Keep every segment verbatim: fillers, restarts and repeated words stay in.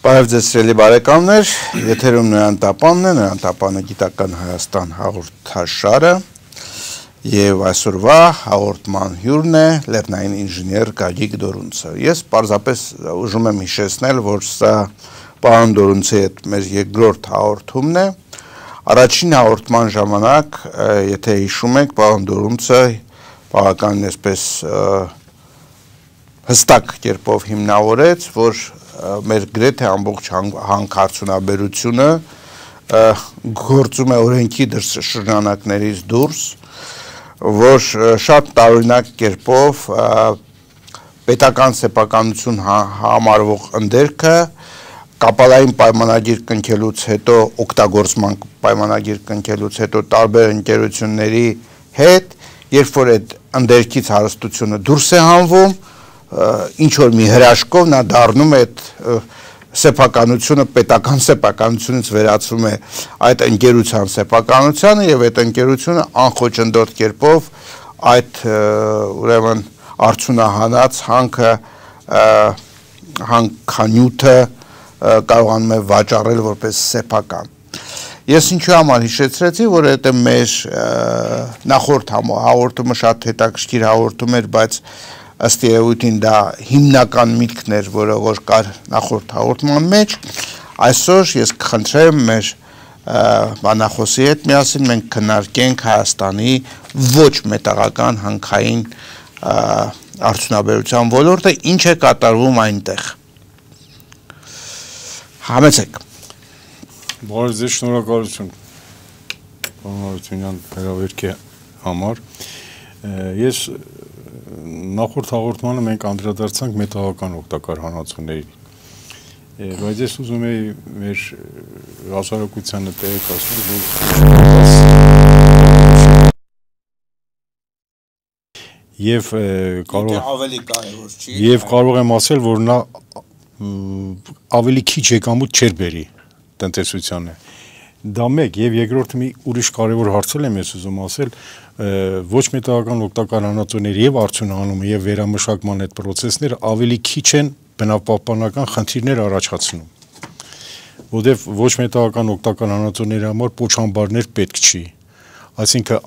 Բարև ձեզ սիրելի բարեկամներ, եթերում Նոյան Տապանն է, Նոյան Տապանը գիտական Հայաստան հաղորդաշարը եւ այսօրվա հաղորդման հյուրն է լեռնային ինժեներ Գագիկ Դորունցը։ Ես պարզապես ուզում եմ հիշեցնել, որ սա պարոն Դորունցի հետ մեր երկրորդ հաղորդումն է։ Առաջին հաղորդման ժամանակ, եթե հիշում եք, պարոն Դորունցը բավականին այսպես հստակ կերպով հիմնավորեց, որ մեր գրեթե ամբողջ հանքարդյունաբերությունը գործում է օրենքի շրջանակներից դուրս, որ շատ տարօրինակ կերպով պետական սեփականություն համարվող ընդերքը կապալային պայմանագիր կնքելուց հետո, օգտագործման պայմանագիր կնքելուց հետո տարբեր ընկերությունների հետ, երբ որ այդ ընդերքից հարստությունը դուրս է հանվում, ինչ որ մի հրաշքով նա դառնում է այդ սեփականությունը պետական սեփականությունից վերածվում է այդ ընկերության սեփականությանը եւ այդ ընկերությունը անխոչնդոտ կերպով այդ ուրեմն արդյունահանած հանքը հանքանյութը կարողանում է վաճառել որպես սեփական։ Ես ինչու համար հիշեցրեցի, որ դա մեր նախորդ հաղորդումը շատ հետաքրքիր հաղորդում էր, բայց ըստ երևույթին դա հիմնական միտքն էր, որը որ կար նախորդ հաղորդման մեջ, այսօր ես կխնդրեմ մեր բանախոսի հետ միասին մենք քննարկենք Հայաստանի ոչ մետաղական հանքային արդյունաբերության ոլորտը, ինչ է կատարվում այնտեղ։ Համեցեք։ Բարև ձեզ, շնորհակալություն պարոն Արությունյան հրավերքի համար։ Ես նախորդ հաղորդմանը մենք անդրադարձանք մետաղական օգտակար հանածոներին, բայց ես ուզում եի մեր հասարակությանը տեղեկացնել, որ եւ կարող եւ կարող եմ ասել, որ նա ավելի քիչ եկամուտ չէր բերի տնտեսությանը։ Դա մեկ եւ երկրորդ մի ուրիշ կարևոր հարց եմ ես ուզում ասել, ոչ մետաղական օգտակար հանածոների եւ արդյունահանումը եւ վերամշակման այդ process-ները ավելի քիչ են բնապահպանական խնդիրներ առաջացնում, որովհետեւ ոչ մետաղական օգտակար հանածոների համար փոչամբարներ պետք չի, այսինքն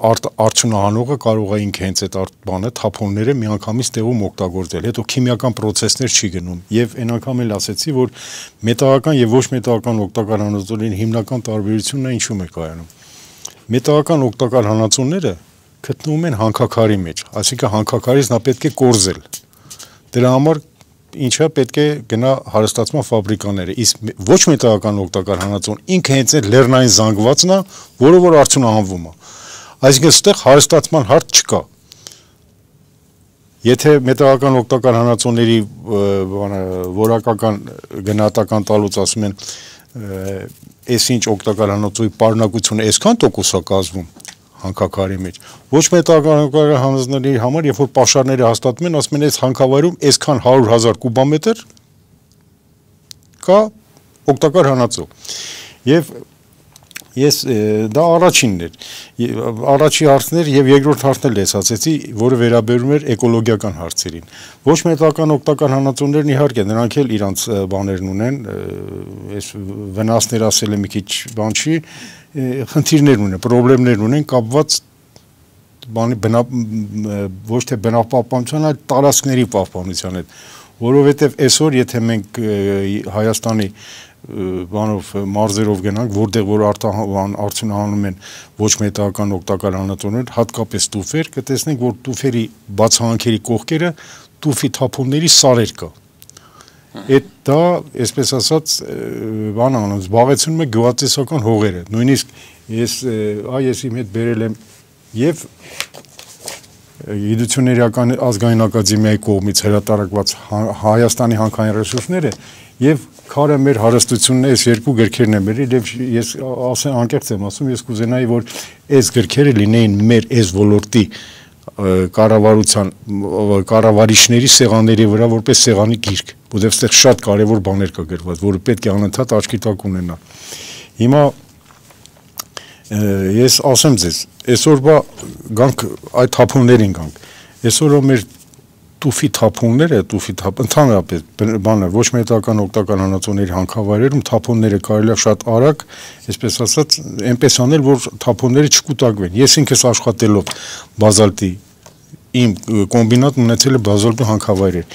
արդյունահանողը կարող է ինքը հենց այդ բանը թափոնները միանգամից տեղում օգտագործել, հետո քիմիական process-ներ չի գնում եւ այն անգամ էլ ասեցի, որ մետաղական եւ ոչ մետաղական օգտակար հանածոների հիմնական տարբերությունն է ինչու՞մ է կայանում։ Մետաղական օգտակար հանածոները գտնվում են հանքաքարի մեջ, այսինքն հանքաքարից նա պետք է կորզել։ Դրա համար ինչա պետք է գնա հարստացման ֆաբրիկաները, իսկ ոչ մետաղական օգտակար հանածոն ինքը հենց այդ լեռնային զանգվածն է, որը որ արդյունահանվում է։ Այսինքն այստեղ հարստացման հարց չկա։ Եթե մետաղական օգտակար հանածոների որակական գնահատական տալուց ասում են այս ինչ օգտակար հանածոյի պարունակությունը այսքան տոկոս է կազմում հանքաքարի մեջ, ոչ մետաղական օգտակար հանածոների համար, երբ որ պաշարները հաստատում են, ասում են այս հանքավայրում այսքան հարյուր հազար կուբամետր կա օգտակար հանածո։ Եվ ես դա առաջինն էր, առաջի հարցն էր եւ երկրորդ հարցն էլ ես ասեցի, որը վերաբերում էր էկոլոգիական հարցերին։ Ոչ մետաղական օգտակար հանածոներն իհարկե նրանք էլ իրանց բաներն ունեն, այս վնասներ ասել եմ մի քիչ բան չի, խնդիրներ ունեն, խնդիրներ ունեն կապված բանի բնա ոչ թե բնապահպանության, այլ տարածքների պահպանության հետ, որովհետեւ այսօր եթե մենք Հայաստանի բանով մարզերով գնանք, որտեղ որ արդյունահանում են ոչ մետաղական օգտակար հանածոներ, հատկապես տուֆեր, կտեսնենք, որ տուֆերի բացահանքերի կողքերը տուֆի թափոնների սարեր կա։ Այդ դա, այսպես ասած, բան անում, զբաղեցնում է գյուղատնտեսական հողերը։ Նույնիսկ ես այ ես իմ հետ բերել եմ եւ Գիտությունների ազգային ակադեմիայի կողմից հրատարակված Հայաստանի հանքային ռեսուրսները եւ քարը մեր հարստությունն է, այս երկու գրքերն եմ բերել եւ ես ասեմ անկեղծ եմ ասում, ես կուզենայի, որ այս գրքերը լինեին մեր այս ոլորտի կառավարության կառավարիչների սեղանների վրա որպես սեղանի գիրք, որովհետեւ այստեղ շատ կարեւոր բաներ կա գրված, որը պետք է անընդհատ աչքի տակ ունենա։ Հիմա ես ասեմ ձեզ, այսօրվա գանք այդ թափոններին գանք։ Այսօրը մեր տուֆի թափոնները, տուֆի թափ ընդհանրապես բանը ոչ մետական օգտակար հանածոների հանքավայրերում թափոնները կարելի է շատ արագ, այսպես ասած, այնպես անել, որ թափոնները չկուտակվեն։ Ես ինքս աշխատելով բազալտի իմ կոմբինատն ունեցել է բազալտի հանքավայրեր։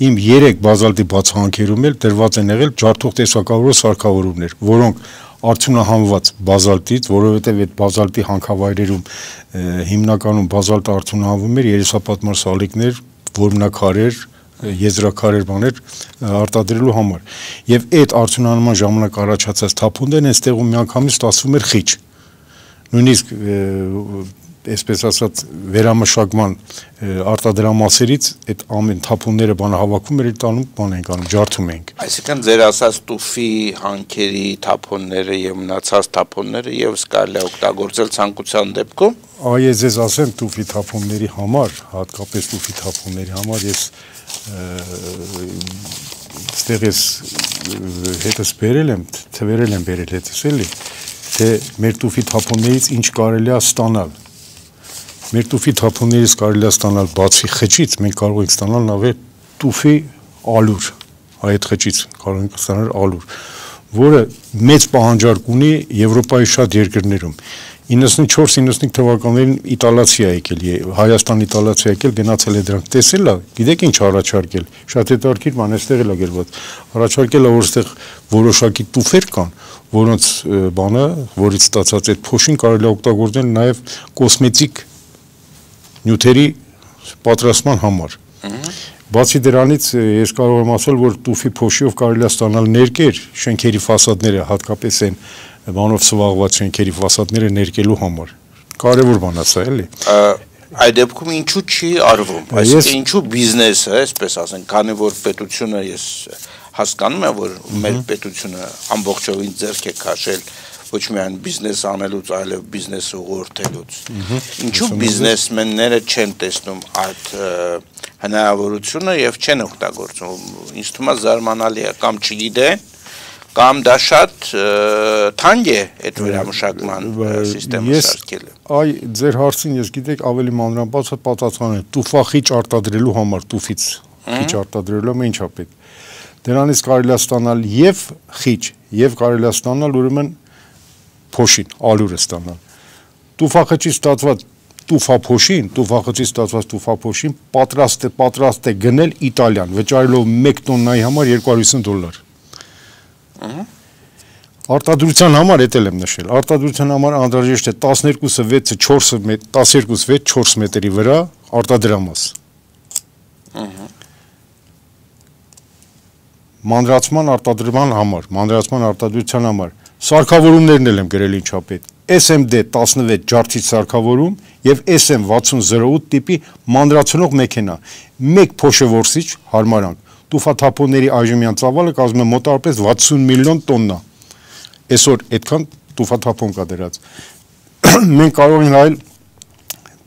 Իմ երեք բազալտի բացահանքերում էլ դրված են եղել ջարդող տեսակավորող սարքավորումներ, որոնք արդյունահանված բազալտից, որովհետև այդ բազալտի հանքավայրերում հիմնականում բազալտը արդյունահանվում էր երեսապատման սալիկներ, որմնակարեր, եզրակարեր բաներ արտադրելու համար։ Եվ այդ արդյունահանման ժամանակ առաջացած թափոններն այստեղում միանգամից ստացվում էր խիճ։ Նույնիսկ այսպես ասած վերամշակման արտադրամասերից այդ ամեն թափոնները բանը հավաքում էր տանում, բան ենք անում, ջարդում ենք։ Այսինքն ձեր ասած տուֆի հանքերի թափոնները եւ մնացած թափոնները եւս կարելի է օգտագործել ցանկության դեպքում։ Այ ես ձեզ ասեմ տուֆի թափոնների համար, հատկապես տուֆի թափոնների համար ես այստեղ ես հետս բերել եմ, թվերել եմ բերել հետս էլի, թե մեր տուֆի թափոններից ինչ կարելի է ստանալ։ Մեր տուֆի թափոններից կարելի է ստանալ բացի խճից, մենք կարող ենք ստանալ նաև տուֆի ալուր, այդ խճից կարող ենք ստանալ ալուր, որը մեծ պահանջարկ ունի Եվրոպայի շատ երկրներում։ իննսունչորս իննսունհինգ թվականներին իտալացի է եկել, Հայաստան իտալացի է եկել, գնացել է դրանք տեսել է, գիտեք ինչ առաջարկել, շատ հետաքրքիր բան, այստեղ էլ է գրված, առաջարկել է, որ այստեղ որոշակի տուֆեր կան, որոնց բանը, որից ստացած այդ փոշին կարելի է օգտագործել նաև կոսմետիկ նյութերի պատրաստման համար։ Բացի դրանից ես կարող եմ ասել, որ տուֆի փոշիով կարելի է ստանալ ներկեր, շենքերի ֆասադները, հատկապես այն բանով սվաղված շենքերի ֆասադները ներկելու համար։ Կարևոր բան է սա, էլի։ Այդ դեպքում ինչու չի արվում, այսինքն ինչու բիզնեսը, այսպես ասենք, քանի որ պետությունը ես հասկանում եմ, որ մեր պետությունը ամբողջովին ձեռք է քաշել ոչ միայն բիզնես անելուց, այլև բիզնես ուղղորդելուց։ Ինչու բիզնեսմենները չեն տեսնում այդ հնարավորությունը եւ չեն օգտագործում։ Ինձ թվում է զարմանալի է, կամ չգիտեն, կամ դա շատ թանկ է այդ վերամշակման սիստեմը սարքելը։ Այ ձեր հարցին ես գիտեք ավելի մանրամասն պատասխանեմ, տուֆախիչ արտադրելու համար տուֆից խիճ արտադրելու համար ինչա պետք։ Դրանից կարելի է ստանալ եւ խիճ, եւ կարելի է ստանալ ուրեմն փոշին, ալուրը ստանալ։ Տուֆախճից ստացված տուֆափոշին, տուֆախճից ստացված տուֆափոշին պատրաստ է, պատրաստ է գնել Իտալիան, վճարելով մեկ տոննայի համար երկու հարյուր հիսուն դոլար։ Արտադրության համար էտել եմ նշել, արտադրության համար անհրաժեշտ է տասներկուսը վեցը չորսը տասներկուս վեց չորս մետրի վրա արտադրամաս։ Մանրացման արտադրման համար, մանրացման արտադրության համար սարքավորումներն էլ եմ գրել ինչա պետք։ S M D տասնվեց ջարդիչ սարքավորում եւ S M վաթսուն զրո ութ տիպի մանրացնող մեքենա։ Մեկ փոշևորսիչ հարմարանք։ Տուֆաթափոնների այժմյան ծավալը կազմում է մոտավորապես վաթսուն միլիոն տոննա։ Այսօր այդքան տուֆաթափոն կա դրած։ Մենք կարող ենք այլ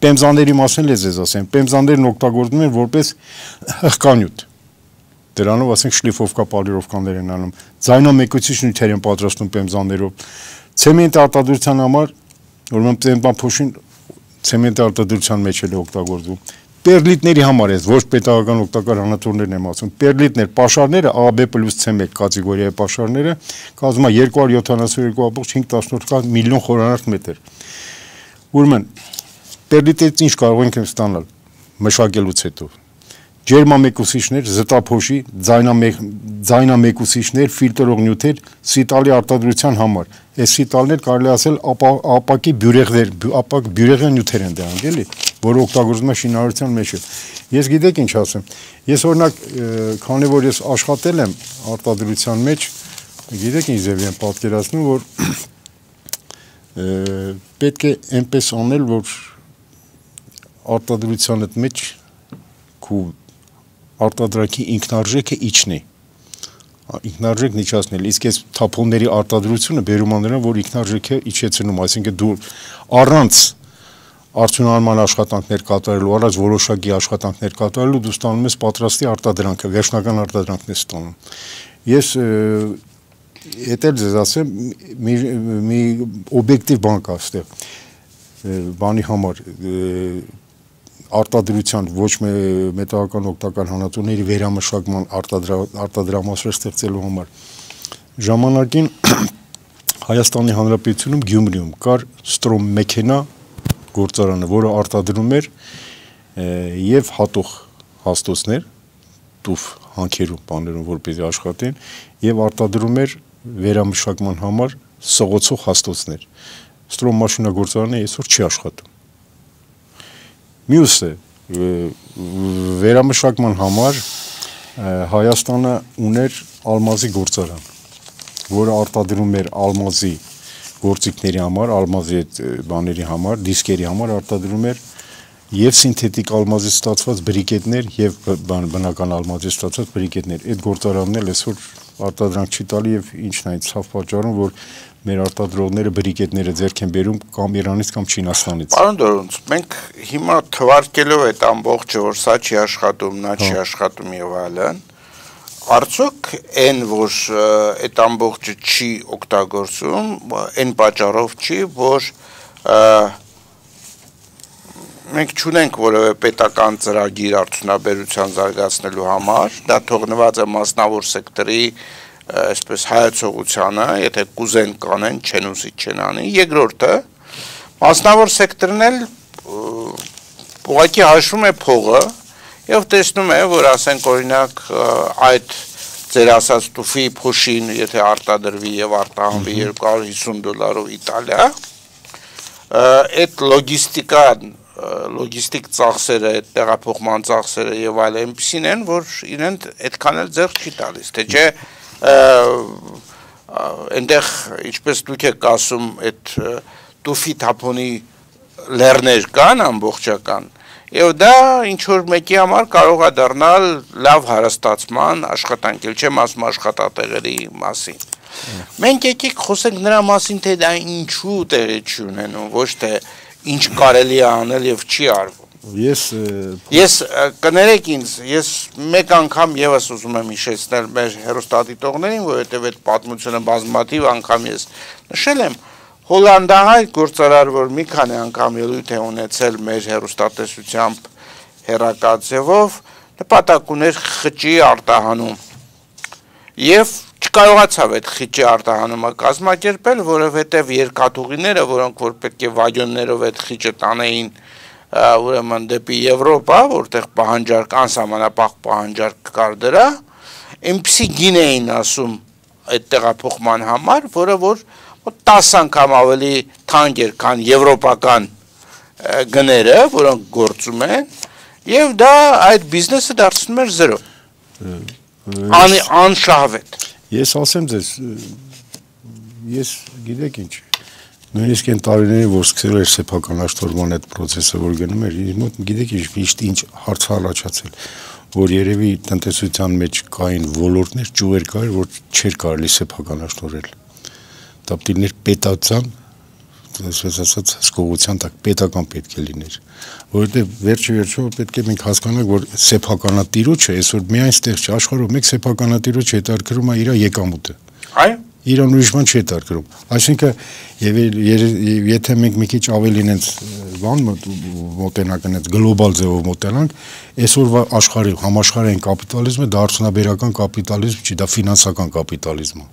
պեմզաների մասին ես ձեզ ասեմ, պեմզաներն օգտագործվում են որպես հղկանյութ։ Դրանով ասենք շլիֆովկա պոլիրովկաներ են անում, ձայնամեկուցիչ նյութեր են պատրաստում պեմզաներով, ցեմենտ արտադրության համար, ուրեմն պեմզափոշին ցեմենտ արտադրության մեջ էլ է օգտագործվում, պերլիտների համար է, ոչ պետական օգտակար հանածորներն եմ ասում, պերլիտներ, պաշարները A B plus C մեկ կատեգորիայի պաշարները կազմում է երկու հարյուր յոթանասուն երկու կoma հինգ միլիոն խորանարդ մետր։ Ուրեմն պերլիտից ինչ կարող ենք ստանալ մշակելուց հետո։ Ջերմամեկուսիչներ, զտափոշի, ձայնամեկուսիչներ, ֆիլտրող նյութեր սիտալի արտադրության համար։ Այս սիտալներ կարելի ասել ապակի բյուրեղներ, ապակ բյուրեղային նյութեր են դրանք, էլի, որը օգտագործվում է շինարարության մեջ։ Ես գիտեք ինչ ասեմ։ Ես օրինակ, քանի որ ես աշխատել եմ արտադրության մեջ, գիտեք ինչ ձև եմ պատկերացնում, որ պետք է այնպես անել, որ արտադրության մեջ քու արտադրակի ինքնարժեքը իջնի, ինքնարժեք իջացնել, իսկ այս թափոնների արտադրությունը բերում է նրան, որ ինքնարժեքը իջեցնում, այսինքն դու առանց արդյունահանման աշխատանքներ կատարելու, առանց որոշակի աշխատանքներ կատարելու դու ստանում ես պատրաստի արտադրանքը, վերջնական արտադրանքն ես ստանում։ Ես հետ էլ ձեզ ասեմ, մի, մի օբյեկտիվ բան կա այստեղ, բանի համար արտադրության ոչ մետաղական օգտակար հանածոների վերամշակման արտադրամասեր ստեղծելու համար ժամանակին Հայաստանի Հանրապետությունում Գյումրիում կար Ստրոմ մեքենա գործարանը, որը արտադրում էր եւ հատող հաստոցներ, տուֆ հանքերում, բաներում, որպեսզի աշխատեն, եւ արտադրում էր վերամշակման համար սողոցող հաստոցներ։ Ստրոմ մաշինագործարանը այսօր չի աշխատում։ Մյուսը վերամշակման համար Հայաստանը ուներ ալմազի գործարան, որը արտադրում էր ալմազի գործիքների համար, ալմազի բաների համար, դիսկերի համար արտադրում էր եւ սինթետիկ ալմազից ստացված բրիկետներ եւ բնական ալմազից ստացված բրիկետներ։ Այդ գործարանն էլ այսօր արտադրանք չի տալի եւ ինչն է այդ ցավ պատճառում, որ մեր արտադրողները բրիկետները ձեռք են բերում կամ Իրանից կամ Չինաստանից։ Պարոն Դորունց, մենք հիմա թվարկելով այդ ամբողջը, որ սա չի աշխատում, նա չի աշխատում եւ այլն, արդյոք այն, որ այդ ամբողջը չի օգտագործում, այն պատճառով չի, որ մենք չունենք որևէ պետական ծրագիր արդյունաբերության զարգացնելու համար, դա թողնված է մասնավոր սեկտորի այսպես հայացողությանը, եթե կուզեն կանեն, չեն ուզի չեն անի։ Երկրորդը, մասնավոր սեկտորն էլ ուղղակի հաշվում է փողը եւ տեսնում է, որ ասենք օրինակ այդ ձեր ասած տուֆի փոշին, եթե արտադրվի եւ արտահանվի երկու հարյուր հիսուն դոլարով Իտալիա, այդ լոգիստիկան լոգիստիկ ծախսերը, այդ տեղափոխման ծախսերը եւ այլ այնպեսին են, որ իրեն այդքան էլ ձեռք չի տալիս, թե չէ այնտեղ ինչպես դուք եք ասում, այդ տուֆի թափոնի լեռներ կան ամբողջական, եւ դա ինչ որ մեկի համար կարող է դառնալ լավ հարստացման աշխատանք, էլ չեմ ասում աշխատատեղերի մասին։ Մենք եկեք խոսենք նրա մասին, թե դա ինչու տեղի չի ունենում, ոչ թե ինչ կարելի է անել եւ չի արվում։ Ես ես կներեք ինձ, ես մեկ անգամ եւս ուզում եմ հիշեցնել մեր հեռուստադիտողներին, որովհետեւ այդ պատմությունը բազմաթիվ անգամ ես նշել եմ, հոլանդահայ գործարար, որ մի քանի անգամ ելույթ է ունեցել մեր հեռուստատեսությամբ հեռակացեվով, նպատակ ուներ խճի արտահանում եւ չկարողացավ այդ խճի արտահանումը կազմակերպել, որովհետև երկաթուղիները, որոնք որ պետք է վագոններով այդ խճը տանեին ուրեմն դեպի Եվրոպա, որտեղ պահանջարկ անսահմանափակ պահանջարկ կար դրա, այնպիսի գին էին ասում այդ տեղափոխման համար, որը որ տասը անգամ ավելի թանկ էր, քան եվրոպական գները, որոնք գործում են, եւ դա այդ բիզնեսը դարձնում էր զրո։ Անշահվետ։ Ես ասեմ ձեզ, ես գիտեք ինչ, նույնիսկ այն տարիներին, որ սկսել էր սեփական աշտորման այդ պրոցեսը, որ գնում էր, իր մոտ գիտեք ինչ, միշտ ինչ հարց առաջացել, որ երևի տնտեսության մեջ կային ոլորտներ, ճյուղեր կար, որ չէր կարելի սեփական աշտորել։ Տապտիլներ պետական, այսպես ասած, հսկողության տակ պետական պետք է լիներ, որովհետև վերջի վերջո պետք է մենք հասկանանք, որ սեփականատիրոջը այսօր միայն ստեղ չի, աշխարհում մեկ սեփականատիրոջ հետարկրում է իր եկամուտը։ Այո։ Իրան ուրիշ բան չի հետարկրում։ Այսինքն, եթե մենք մի քիչ ավելին այնց բան մոտենանք, այնց գլոբալ ձևով մոտենանք, այսօրվա աշխարհի համաշխարհային կապիտալիզմը դա արդյունաբերական կապիտալիզմ չի, դա ֆինանսական կապիտալիզմ է։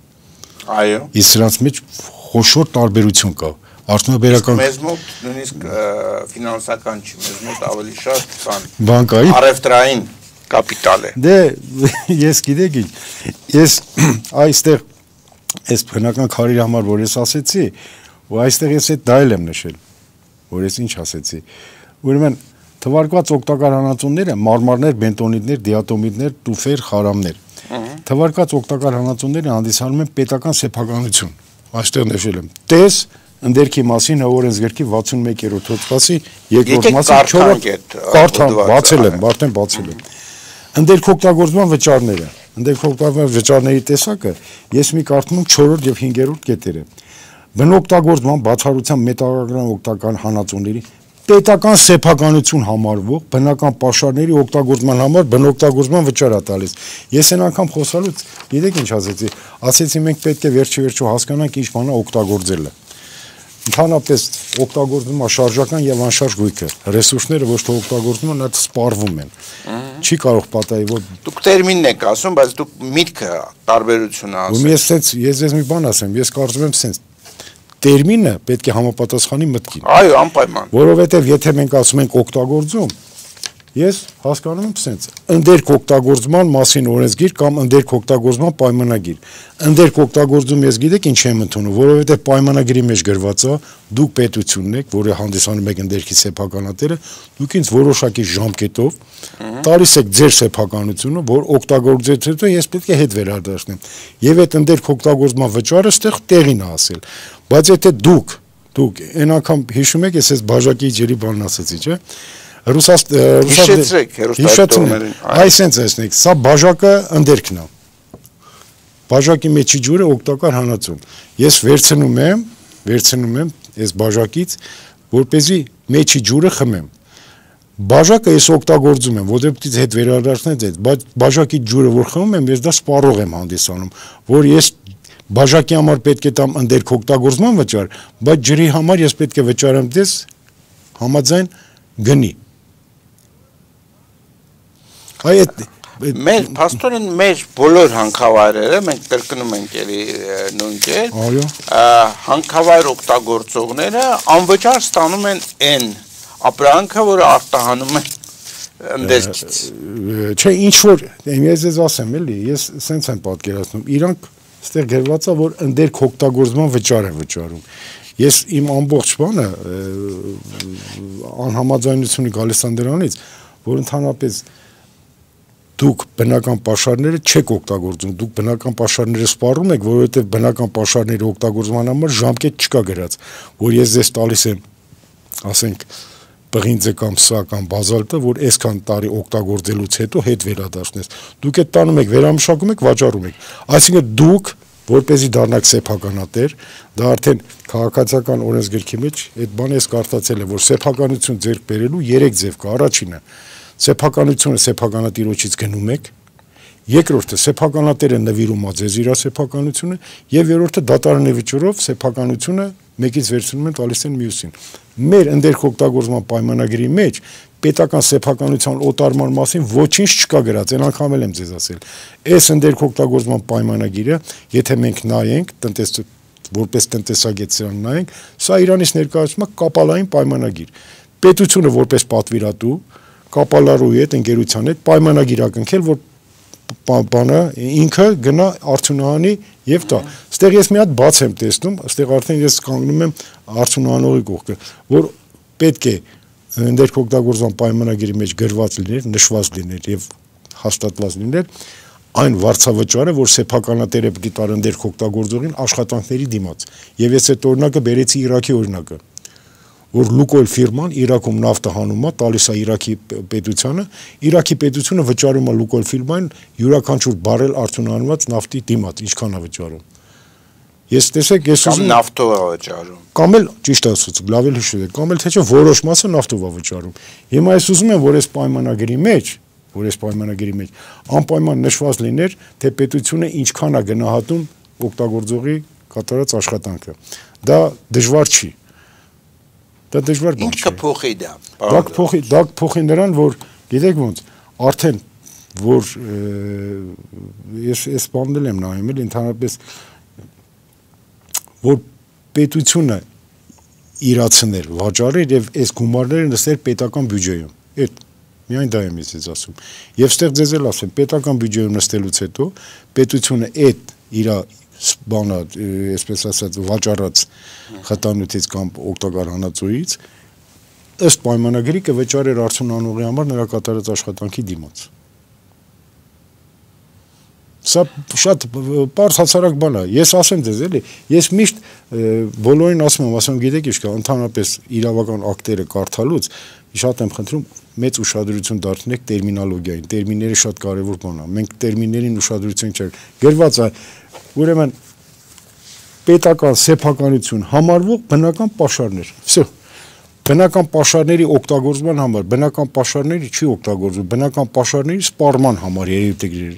Այո։ Իսկ սրանց մեջ խոշոր տարբերություն կա։ Արդյունաբերական մեզ մոտ նույնիսկ ֆինանսական չի, մեզ մոտ ավելի շատ կան բանկային առևտրային կապիտալ է։ Դե ես գիտեք ինչ, ես այստեղ այս բնական քարի համար, որ ես ասեցի, ու այստեղ ես այդ դա էլ եմ նշել, որ ես ինչ ասեցի։ Ուրեմն թվարկված օգտակար հանածոները մարմարներ, բենտոնիտներ, դիատոմիտներ, տուֆեր, խարամներ։ Թվարկված օգտակար հանածոները հանդիսանում են պետական սեփականություն։ Այստեղ նշել եմ։ Տես ընդերքի մասին օրենսգրքի վաթսունմեկերորդ հոդվածի երկրորդ մասի չորրորդ կարդան բացել եմ, արդեն բացել եմ։ Ընդերք օգտագործման վճարները, ընդերք օգտագործման վճարների տեսակը ես մի կարդում եմ չորրորդ եւ հինգերորդ կետերը։ Բնօգտագործման բացառության մետաղագրական օգտական հանածոների պետական սեփականություն համարվող բնական պաշարների օգտագործման համար բնօգտագործման վճար է տալիս։ Ես այն անգամ խոսալուց, գիտեք ինչ ասեցի, ասեցի մենք պետք է վերջի վերջո հասկանանք ինչ բան է օգտագործելը։ Ընդհանրապես օգտագործվում է շարժական եւ անշարժ գույքը, ռեսուրսները ոչ թե օգտագործվում են, այլ սպառվում են։ Չի կարող պատահի, որ դուք տերմինն եք ասում, բայց դուք միտքը տարբերությունը ասում։ Ու ես sense ես ես մի բան ասեմ, ես կարծում եմ sense տերմինը պետք է համապատասխանի մտքին։ Այո, անպայման։ Որովհետեւ եթե մենք ասում ենք օգտագործում, ես հասկանում եմ sense ընդերք օգտագործման մասին օրենսգիր կամ ընդերք օգտագործման պայմանագիր։ Ընդերք օգտագործում ես գիտեք ինչ եմ ընդունում, որովհետեւ պայմանագրի մեջ գրված է, դուք պետությունն եք, որը հանդիսանում եք ընդերքի սեփականատերը, դուք ինձ որոշակի ժամկետով տալիս եք ձեր սեփականությունը, որ օգտագործելուց հետո ես պետք է հետ վերադարձնեմ։ Եվ այդ ընդերք օգտագործման վճարը ստեղ տեղին է ասել։ Բայց եթե դուք դուք այն անգամ հիշում եք, ես այս բաժակի ջերի բանն ասեցի, չէ՞։ Ռուսաստան հիշեցրեք հերոստատողներին։ Այսենց ասենք, սա բաժակը ընդերքն է։ Բաժակի մեջի ջուրը օգտակար հանածուն։ Ես վերցնում եմ, վերցնում եմ այս բաժակից, որպեսզի մեջի ջուրը խմեմ։ Բաժակը ես օգտագործում եմ, որովհետեւ հետ վերադարձնեց այդ, բայց բաժակի ջուրը որ խմում եմ, ես դա սպառող եմ հանդիսանում, որ ես բաժակի համար պետք է տամ ընդերք օգտագործման վճար, բայց ջրի համար ես պետք է վճարեմ դες համաձայն գնի։ Այդ մեր փաստորեն մեր բոլոր հանքավայրերը մենք կրկնում ենք էլի նույն կերպ, հանքավայր օգտագործողները անվճար ստանում են այն ապրանքը, որը արտահանում են ընդերքից։ Չէ, ինչ որ ես ես ասեմ էլի, ես սենց եմ պատկերացնում, իրանք ստեղ գրված է, որ ընդերք օգտագործման վճար են վճարում։ Ես իմ ամբողջ բանը անհամաձայնությունը գալիս է դրանից, որ ընդհանրապես դուք բնական պաշարները չեք օգտագործում, դուք բնական պաշարները սպառում եք, որովհետև բնական պաշարների օգտագործման համար ժամկետ չկա գրած, որ ես ձեզ տալիս եմ, ասենք, պղինձը կամ սա կամ բազալտը, որ այսքան տարի օգտագործելուց հետո հետ վերադարձնես։ Դուք այդ տանում եք, վերամշակում եք, վաճառում եք։ Այսինքն դուք, որպեսզի դառնաք սեփականատեր, դա արդեն քաղաքացիական օրենսգրքի մեջ այդ բանը ես կարդացել եմ, որ սեփականություն ձեռք բերելու երեք ձև կա, առաջինը սեփականությունը սեփականատիրոջից գնում եք, երկրորդը սեփականատերը նվիրում է ձեզ իր սեփականությունը եւ երրորդը դատարանի վճռով սեփականությունը մեկից վերցնում են տալիս են մյուսին։ Մեր ընդերք օգտագործման պայմանագրի մեջ պետական սեփականության օտարման մասին ոչինչ չկա գրած, այն անգամ եմ ձեզ ասել։ Այս ընդերք օգտագործման պայմանագիրը, եթե մենք նայենք, տնտես որպես տնտեսագետ սրան նայենք, սա Իրանից ներկայացում է կապալային պայմանագիր։ Պետությունը որպես պատվիրատու կապալարուի հետ ընկերության հետ պայմանագիր ակնքել, որ բանը ինքը գնա արդյունահանի եւ տա։ Ստեղ ես մի հատ բաց եմ տեսնում, ստեղ արդեն ես կանգնում եմ արդյունահանողի կողքը, որ պետք է ընդերք օգտագործման պայմանագրի մեջ գրված լիներ, նշված լիներ եւ հաստատված լիներ այն վարձավճարը, որ սեփականատերը պիտի տար ընդերք օգտագործողին աշխատանքների դիմաց։ Եվ ես այդ օրինակը բերեցի Իրաքի օրինակը, որ Լուկոյլ ֆիրման Իրաքում նավթը հանում է, տալիս է Իրաքի պետությանը, Իրաքի պետությունը վճարում է Լուկոյլ ֆիրմային յուրաքանչյուր բարել արդյունահանված նավթի դիմաց, ինչքան է վճարում։ Ես տեսեք, ես ուզում եմ նավթով է վճարում։ Կամ էլ ճիշտ ասած, լավ էլ հիշում եք, կամ էլ թե չէ որոշ մասը նավթով է վճարում։ Հիմա ես ուզում եմ, որ այս պայմանագրի մեջ, որ այս պայմանագրի մեջ անպայման նշված լիներ, թե պետությունը ինչքան է գնահատում օգտագործողի կատարած աշխատանքը։ Դա դժվար չի։ Դա դժվար բան չէ։ Ինչ կփոխի դա։ Դա կփոխի, դա կփոխի նրան, որ գիտեք ոնց, արդեն որ ես ես բանել եմ նայում, էլ ընդհանրապես որ պետությունը իրացներ, վաճառեր եւ այս գումարները նստեր պետական բյուջեում։ Այդ միայն դա եմ ես ասում։ Եվ ստեղ ձեզ էլ ասեմ, պետական բյուջեում նստելուց հետո պետությունը այդ իր բանը, այսպես ասած, վաճառած խտանյութից կամ օգտակար հանածոյից ըստ պայմանագրի կվճարեր արդյունահանողի համար նրա կատարած աշխատանքի դիմաց։ Սա շատ պարզ հացարակ բան է։ Ես ասեմ ձեզ, էլի, ես միշտ բոլորին ասում եմ, ասում գիտեք ինչ կա, ընդհանրապես իրավական ակտերը կարդալուց շատ եմ խնդրում մեծ ուշադրություն դարձնեք տերմինոլոգիային։ Տերմինները շատ կարևոր բան է։ Մենք տերմիններին ուշադրություն չենք։ Գրված է, ուրեմն պետական սեփականություն համարվող բնական պաշարներ։ Վсё։ Բնական պաշարների օգտագործման համար, բնական պաշարների չի օգտագործվում, բնական պաշարների սպառման համար երևի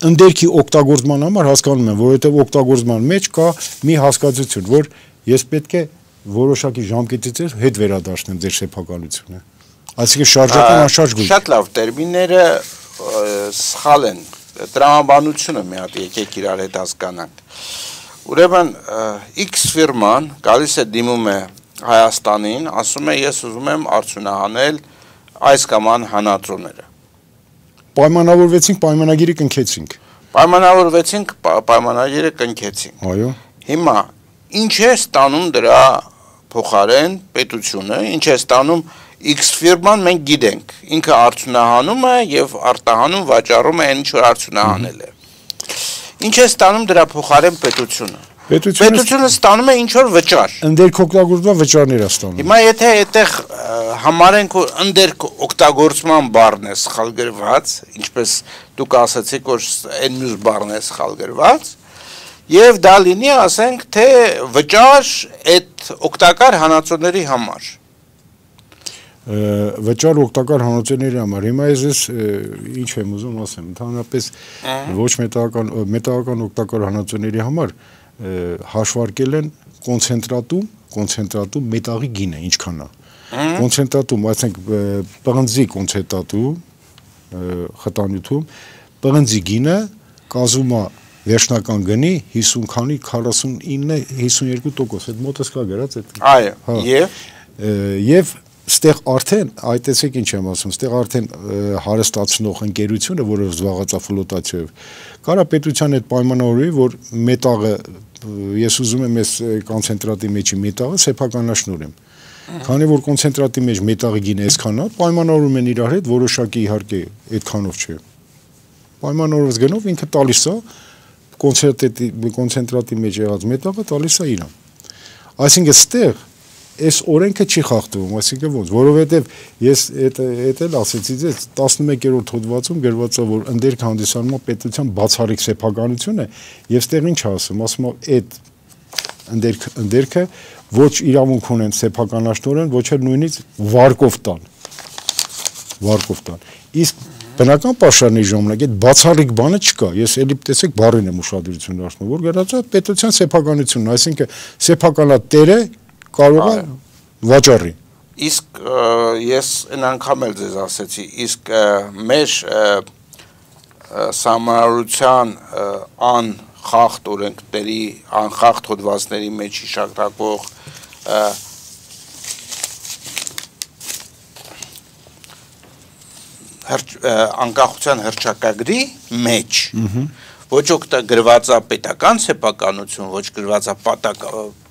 ընդերքի օգտագործման համար հասկանում եմ, որովհետև օգտագործման մեջ կա մի հասկացություն, որ ես պետք է որոշակի ժամկետից հետ վերադարձնեմ ձեր սեփականությունը։ Այսինքն շարժական անշարժ գույք։ Շատ լավ, տերմինները սխալ են։ Տրամաբանությունը մի հատ եկեք իրար հետ հասկանանք։ Ուրեմն X ֆիրման գալիս է դիմում է Հայաստանին, ասում է ես ուզում եմ արդյունահանել այս կամ այն հանածոները։ Պայմանավորվեցինք, պայմանագիրը կնքեցինք։ Պայմանավորվեցինք, պայմանագիրը կնքեցինք։ Այո։ Հիմա ինչ է ստանում դրա փոխարեն պետությունը, ինչ է ստանում X ֆիրման մենք գիտենք, ինքը արդյունահանում է եւ արտահանում վաճառում է այն ինչ որ արդյունահանել է։ Ինչ է ստանում դրա փոխարեն պետությունը։ Պետությունը ստանում է ինչ որ վճար։ Ընդերք օգտագործման վճարներ է ստանում։ Հիմա եթե այդտեղ համարենք որ ընդերք օգտագործման բառն է սխալ գրված, ինչպես դուք ասացիք որ այն մյուս բառն է սխալ գրված, եւ դա լինի ասենք թե վճար այդ օգտակար հանածոների համար։ Վճար օգտակար հանածոների համար։ Հիմա ես ինչ եմ ուզում ասեմ, ընդհանրապես ոչ մետաղական մետաղական օգտակար հանածոների համար հաշվարկել են կոնցենտրատում, կոնցենտրատում մետաղի գինը ինչքան է։ Կոնցենտրատում, այսինքն պղնձի կոնցենտրատում, խտանյութում, պղնձի գինը կազմում է վերջնական գնի հիսուն քանի քառասունինը հիսունյոթ տոկոս, այդ մոտս կա գրած այդ։ Այո, եւ եւ ստեղ արդեն, այ տեսեք ինչ եմ ասում, ստեղ արդեն հարստացնող ընկերությունը, որը զբաղված է ֆլոտացիայով, կարա պետության այդ պայմանավորի, որ մետաղը, ես ուզում եմ այս կոնցենտրատի մեջի մետաղը սեփականաշնորհեմ։ Քանի որ կոնցենտրատի մեջ մետաղի գինը այսքան է, պայմանավորում են իրար հետ, որոշակի իհարկե այդքանով չէ։ Պայմանավորված գնով ինքը տալիս է կոնցենտրատի կոնցենտրատի մեջ եղած մետաղը տալիս է իրան։ Այսինքն ստեղ այս օրենքը չի խախտվում, այսինքն ոնց, որովհետև ես այդ այդ էլ ասեցի ձեզ տասնմեկերորդ հոդվածում գրված է որ ընդերք հանդիսանում է պետության բացառիկ սեփականությունը եւ ստեղ ինչ ասում, ասում է այդ ընդերք ընդերքը ոչ իրավունք ունեն սեփականաշնորհեն, ոչ էլ նույնիսկ վարկով տան։ Վարկով տան։ Իսկ բնական պաշարների ժամանակ այդ բացառիկ բանը չկա։ Ես էլի տեսեք բառին եմ ուշադրություն դարձնում, որ գրած է պետության սեփականությունն, այսինքն սեփականատերը կարող է վաճառի։ Իսկ ես այն անգամ էլ ձեզ ասեցի, իսկ մեր սահմանադրության անխախտ օրենքների, անխախտ հոդվածների մեջ հիշատակվող անկախության հռչակագրի մեջ ոչ օգտա գրված է պետական սեփականություն, ոչ գրված է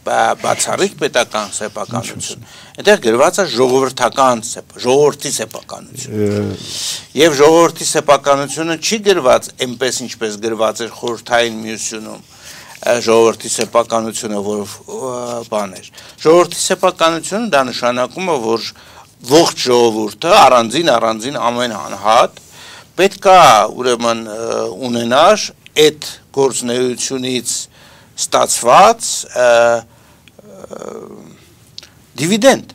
բացառիկ պետական սեփականություն, այնտեղ գրված է ժողովրդական ժողովրդի սեփականություն։ Եվ ժողովրդի սեփականությունը չի գրված այնպես ինչպես գրված էր խորհրդային միությունում ժողովրդի սեփականությունը, որ բան էր։ Ժողովրդի սեփականությունը դա նշանակում է, որ ողջ ժողովուրդը առանձին առանձին ամեն անհատ պետք է ուրեմն ունենար այդ գործունեությունից ստացված դիվիդենդ։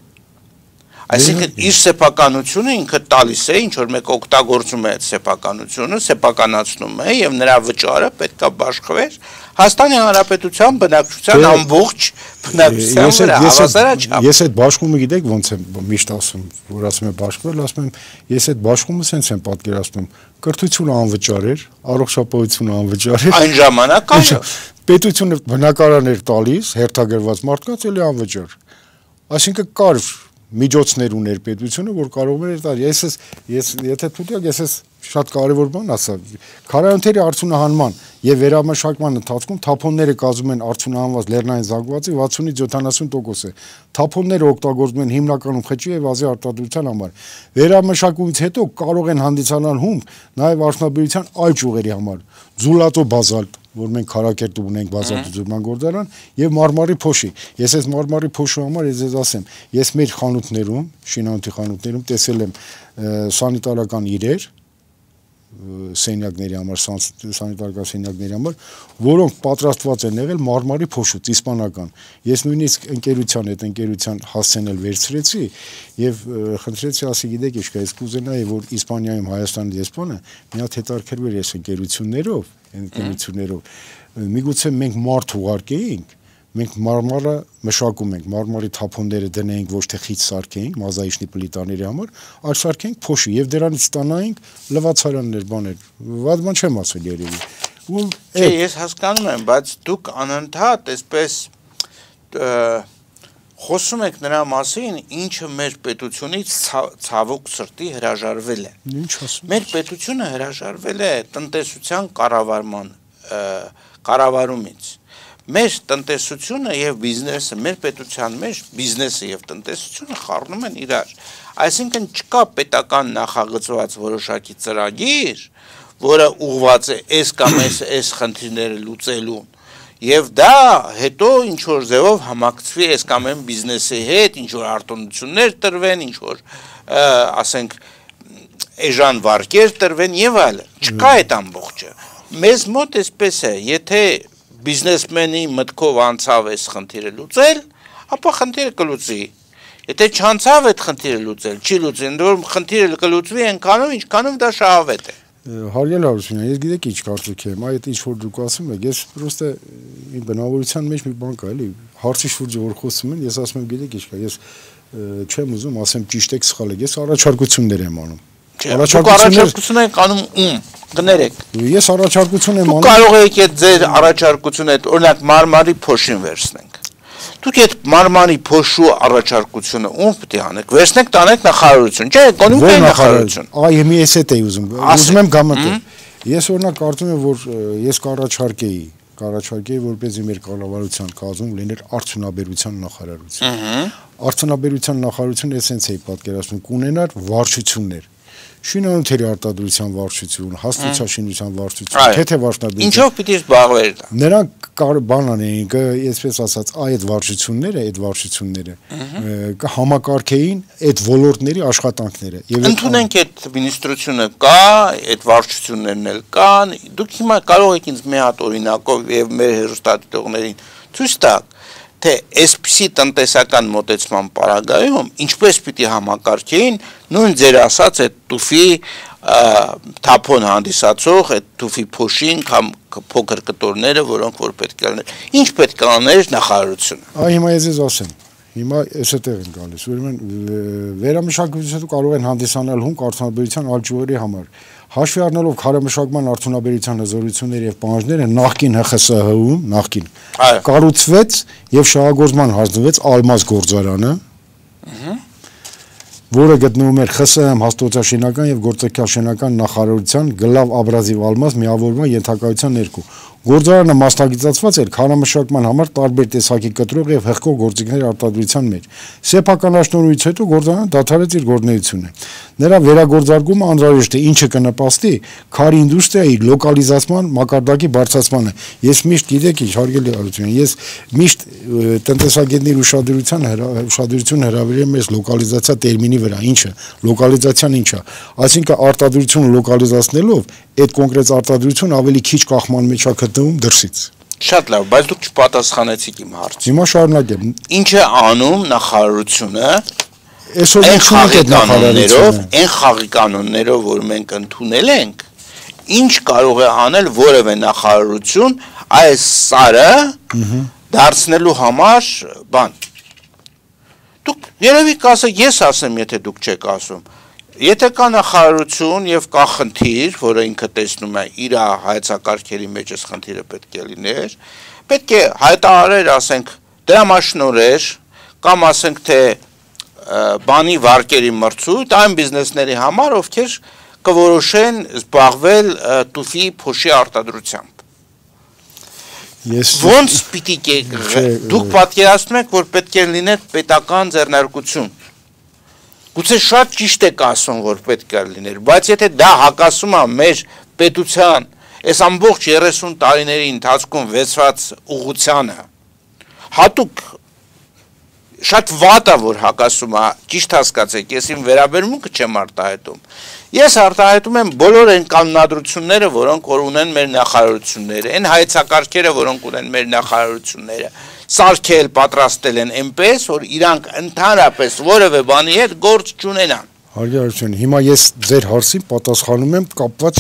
Այսինքն իր սեփականությունը ինքը տալիս է, ինչ որ մեկ օգտագործում է այդ սեփականությունը, սեփականացնում է եւ նրա վճարը պետք է բաշխվեր Հայաստանի Հանրապետության բնակչության ամբողջ բնակչության վրա հավասարաչափ։ Ես այդ բաշխումը գիտեք ոնց եմ միշտ ասում, որ ասում եմ բաշխվել, ասում եմ ես այդ բաշխումը sense եմ պատկերացնում, կրթությունը անվճար էր, առողջապահությունը անվճար էր։ Այն ժամանակ այո։ Պետությունը բնակարան էր տալիս, հերթագրված մարդկանց էլի անվճար։ Այսինքն կար միջոցներ ուներ պետությունը, որ կարող էր տալ։ Ես ես եթե թույլ ես ես շատ կարևոր բան ասա։ Քարայոնների արդյունահանման եւ վերամշակման ընթացքում թափոնները կազմում են արդյունահանված լեռնային զանգվածի վաթսունից յոթանասուն տոկոս է։ Թափոնները օգտագործում են հիմնականում խճի եւ ազի արտադրության համար։ Վերամշակումից հետո կարող են հանդիսանալ հումք նաեւ արդյունաբերության այլ ճյուղերի համար։ Ձուլատո բազալտ, որ մենք Քարակերտում ունենք բազալտուզուրման գործարան եւ Մարմարի փոշի։ Ես այս Մարմարի փոշու համար ես ձեզ ասեմ, ես մեր խանութներում, շինանյութի խանութներում տեսել եմ սանիտարական իրեր, սենյակների համար, սանիտարական սենյակների համար, որոնք պատրաստված են եղել մարմարի փոշուց, իսպանական։ Ես նույնիսկ ընկերության հետ ընկերության հասցենել վերցրեցի եւ խնդրեցի, ասի գիտեք ինչ կա, ես կուզենայի, որ Իսպանիայում Հայաստանի դեսպանը մի հատ հետարքրվեր այս ընկերություններով, ընկերություններով։ Միգուցե մենք մարդ ուղարկեինք, մենք մարմարը մշակում ենք, մարմարի թափոնները դնենք ոչ թե խիտ սարքենք մազայիշնի պլիտաների համար, այլ սարքենք փոշի եւ դրանից ստանայինք լվացարաններ, բաներ։ Վատ բան չեմ ասել երևի։ Ու Չէ, ես հասկանում եմ, բայց դուք անընդհատ այսպես խոսում եք նրա մասին, ինչը մեր պետությունից ցավոք սրտի հրաժարվել է։ Ինչ ասում։ Մեր պետությունը հրաժարվել է տնտեսության կառավարման կառավարումից։ Մեր տնտեսությունը եւ բիզնեսը, մեր պետության մեջ բիզնեսը եւ տնտեսությունը խառնում են իրար։ Այսինքն չկա պետական նախագծված որոշակի ծրագիր, որը ուղղված է այս կամ այս այս խնդիրները լուծելուն։ Եվ դա հետո ինչ որ ձևով համակցվի այս կամ այն բիզնեսի հետ, ինչ որ արտոնություններ տրվեն, ինչ որ ասենք էժան վարկեր տրվեն եւ այլն։ Չկա այդ ամբողջը։ Մեզ մոտ էսպես է, եթե բիզնեսմենի մտքով անցավ այս խնդիրը լուծել, ապա խնդիրը կլուծի։ Եթե չանցավ այդ խնդիրը լուծել, չի լուծի, ընդ որում խնդիրը կլուծվի այնքանով, ինչքանով դա շահավետ է։ Հարյալ Հարությունյան, ես գիտեք ինչ կարծիք եմ, այդ ինչ որ դուք ասում եք, ես պրոստը իմ բնավորության մեջ մի բան կա, էլի, հարցի շուրջը որ խոսում են, ես ասում եմ, գիտեք ինչ կա, ես չեմ ուզում ասեմ ճիշտ եք, սխալ եք, ես առաջարկություններ եմ անում։ Առաջարկություններ եք անում ում, գներեք։ Ես առաջարկություն եմ անում։ Դուք կարող եք այդ ձեր առաջարկությունը, օրինակ մարմարի փոշին վերցնենք։ Դուք այդ մարմարի փոշու առաջարկությունը ում պետք է անեք։ Վերցնեք, տանեք նախարարություն, չէ, էկոնոմիկայի նախարարություն։ Այ մի էս էի ուզում։ Ուզում եմ գամտել։ Ես օրինակ կարծում եմ, որ ես կառաջարկեի, կառաջարկեի, որպեսզի մեր կառավարության կազմում լիներ արդյունաբերության նախարարություն։ Արդյունաբերության նախարարությունը էսենց էի պատկերացնում, կունենար վարչություններ։ Շինանյութերի արտադրության վարչություն, հաստոցաշինության վարչություն, թեթևաշնաբերություն։ Ինչով պիտի զբաղվեր դա։ Նրանք բան անեին, այսպես ասած, այդ վարչությունները, այդ վարչությունները կհամակարգեին այդ ոլորտների աշխատանքները։ Ընդունենք այդ մինիստրությունը կա, այդ վարչություններն էլ կան։ Դուք հիմա կարող եք ինձ մի հատ օրինակով եւ մեր հեռուստադիտողներին ցույց տալ, թե այսպիսի տնտեսական մոտեցման պարագայում ինչպես պիտի համակարգեին նույն ձեր ասած այդ տուֆի թափոն հանդիսացող այդ տուֆի փոշին կամ փոքր կտորները, որոնք որ պետք է լինեն։ Ինչ պետք է աներ նախարարությունը։ Այ հիմա ես ես ասեմ։ Հիմա էս էտեղ են գալիս, ուրեմն վերամշակվածությունը կարող են հանդիսանալ հումք արդյունաբերության այլ ճյուղերի համար։ Հաշվի առնելով քարամշակման արդյունաբերության հզորությունները եւ պահանջները նախկին Հ Խ С Հ-ում, նախկին կառուցվեց եւ շահագործման հանձնվեց Ալմազ գործարանը, որը գտնվում էր Խ Ս Հ հաստոցաշինական եւ գործիքաշինական նախարարության գլավ աբրազիվ Ալմազ միավորման ենթակայության ներքո։ Գործարանը մասնագիտացված էր քարամշակման համար տարբեր տեսակի կտրող եւ հղկող գործիքների արտադրության մեջ։ Սեփականաշնորհից հետո գործարանը դադարեց իր գործունեությունը։ Նրա վերագործարկումը անհրաժեշտ է, ինչը կնպաստի քարի ինդուստրիայի լոկալիզացման մակարդակի բարձրացմանը։ Ես միշտ գիտեք ինչ, հարգելի Արությունյան, ես միշտ տնտեսագետների ուշադրության ուշադրություն հրավիրում եմ այս լոկալիզացիա տերմինի վրա, ինչը լոկալիզացիան ինչ է, այսինքն արտադրությունը լոկալիզացնելով այդ կոնկրետ արտադրությունը ավելի քիչ կախման մեջ է գտնվում դրսից։ Շատ լավ, բայց դուք չպատասխանեցիք իմ հարցին։ Հիմա շարունակեմ։ Ինչ է անում նախարարությունը այսօր մենք ունենք այդ նախարարությունով, այն խաղի կանոններով, որ մենք ընդունել ենք, ինչ կարող է անել որևէ նախարարություն այս սարը դարձնելու համար բան։ Դուք երևի կասեք, ես ասեմ, եթե դուք չեք ասում։ Եթե կա նախարարություն եւ կա խնդիր, որը ինքը տեսնում է իր հայեցակարգերի մեջ այս խնդիրը պետք է լիներ, պետք է հայտարարեր, ասենք, դրամաշնորհեր կամ ասենք թե բանի վարկերի մրցույթ այն բիզնեսների համար, ովքեր կորոշեն զբաղվել տուֆի փոշի արտադրությամբ։ Ոնց պիտի դուք պատկերացնում եք, որ պետք է լիներ պետական ձեռնարկություն։ Գուցե շատ ճիշտ եք ասում, որ պետք է լիներ, բայց եթե դա հակասում է մեր պետության այս ամբողջ երեսուն տարիների ընթացքում վեցված ուղղությանը, հատուկ շատ վատ է, որ հակասում է, ճիշտ հասկացեք, ես իմ վերաբերմունքը չեմ արտահայտում։ Ես արտահայտում եմ բոլոր այն կանոնադրությունները, որոնք որ ունեն մեր նախարարությունները, այն հայեցակարգերը, որոնք ունեն մեր նախարարությունները, սարքել, պատրաստել են այնպես, որ իրանք ընդհանրապես որևէ բանի հետ գործ չունենան։ Հարգարություն, հիմա ես ձեր հարցին պատասխանում եմ կապված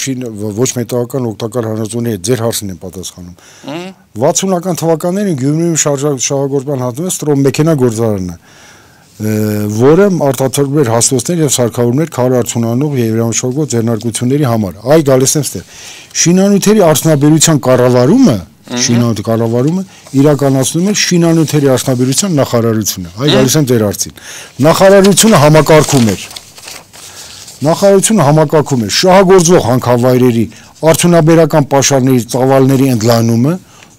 ոչ մետաղական օգտակար հանածոների հետ, ձեր հարցին եմ պատասխանում։ վաթսունական թվականներին Գյումրիում շահագործման հատվում է ստրոմեքենա գործարանը, որը արտադրում էր հաստոցներ եւ սարքավորումներ քար արդյունանող եւ երամշակող ձեռնարկությունների համար։ Այ գալիս եմ ստեղ։ Շինանյութերի արդյունաբերության կառավարումը Շինանյութի կառավարումը իրականացնում է շինանյութերի արդյունաբերության նախարարությունը։ Այ գալիս եմ ձեր հարցին։ Նախարարությունը համակարգում էր Նախարարությունը համակարգում է շահագործվող հանքավայրերի արդյունաբերական պաշարների ծավալների ընդլայնումը,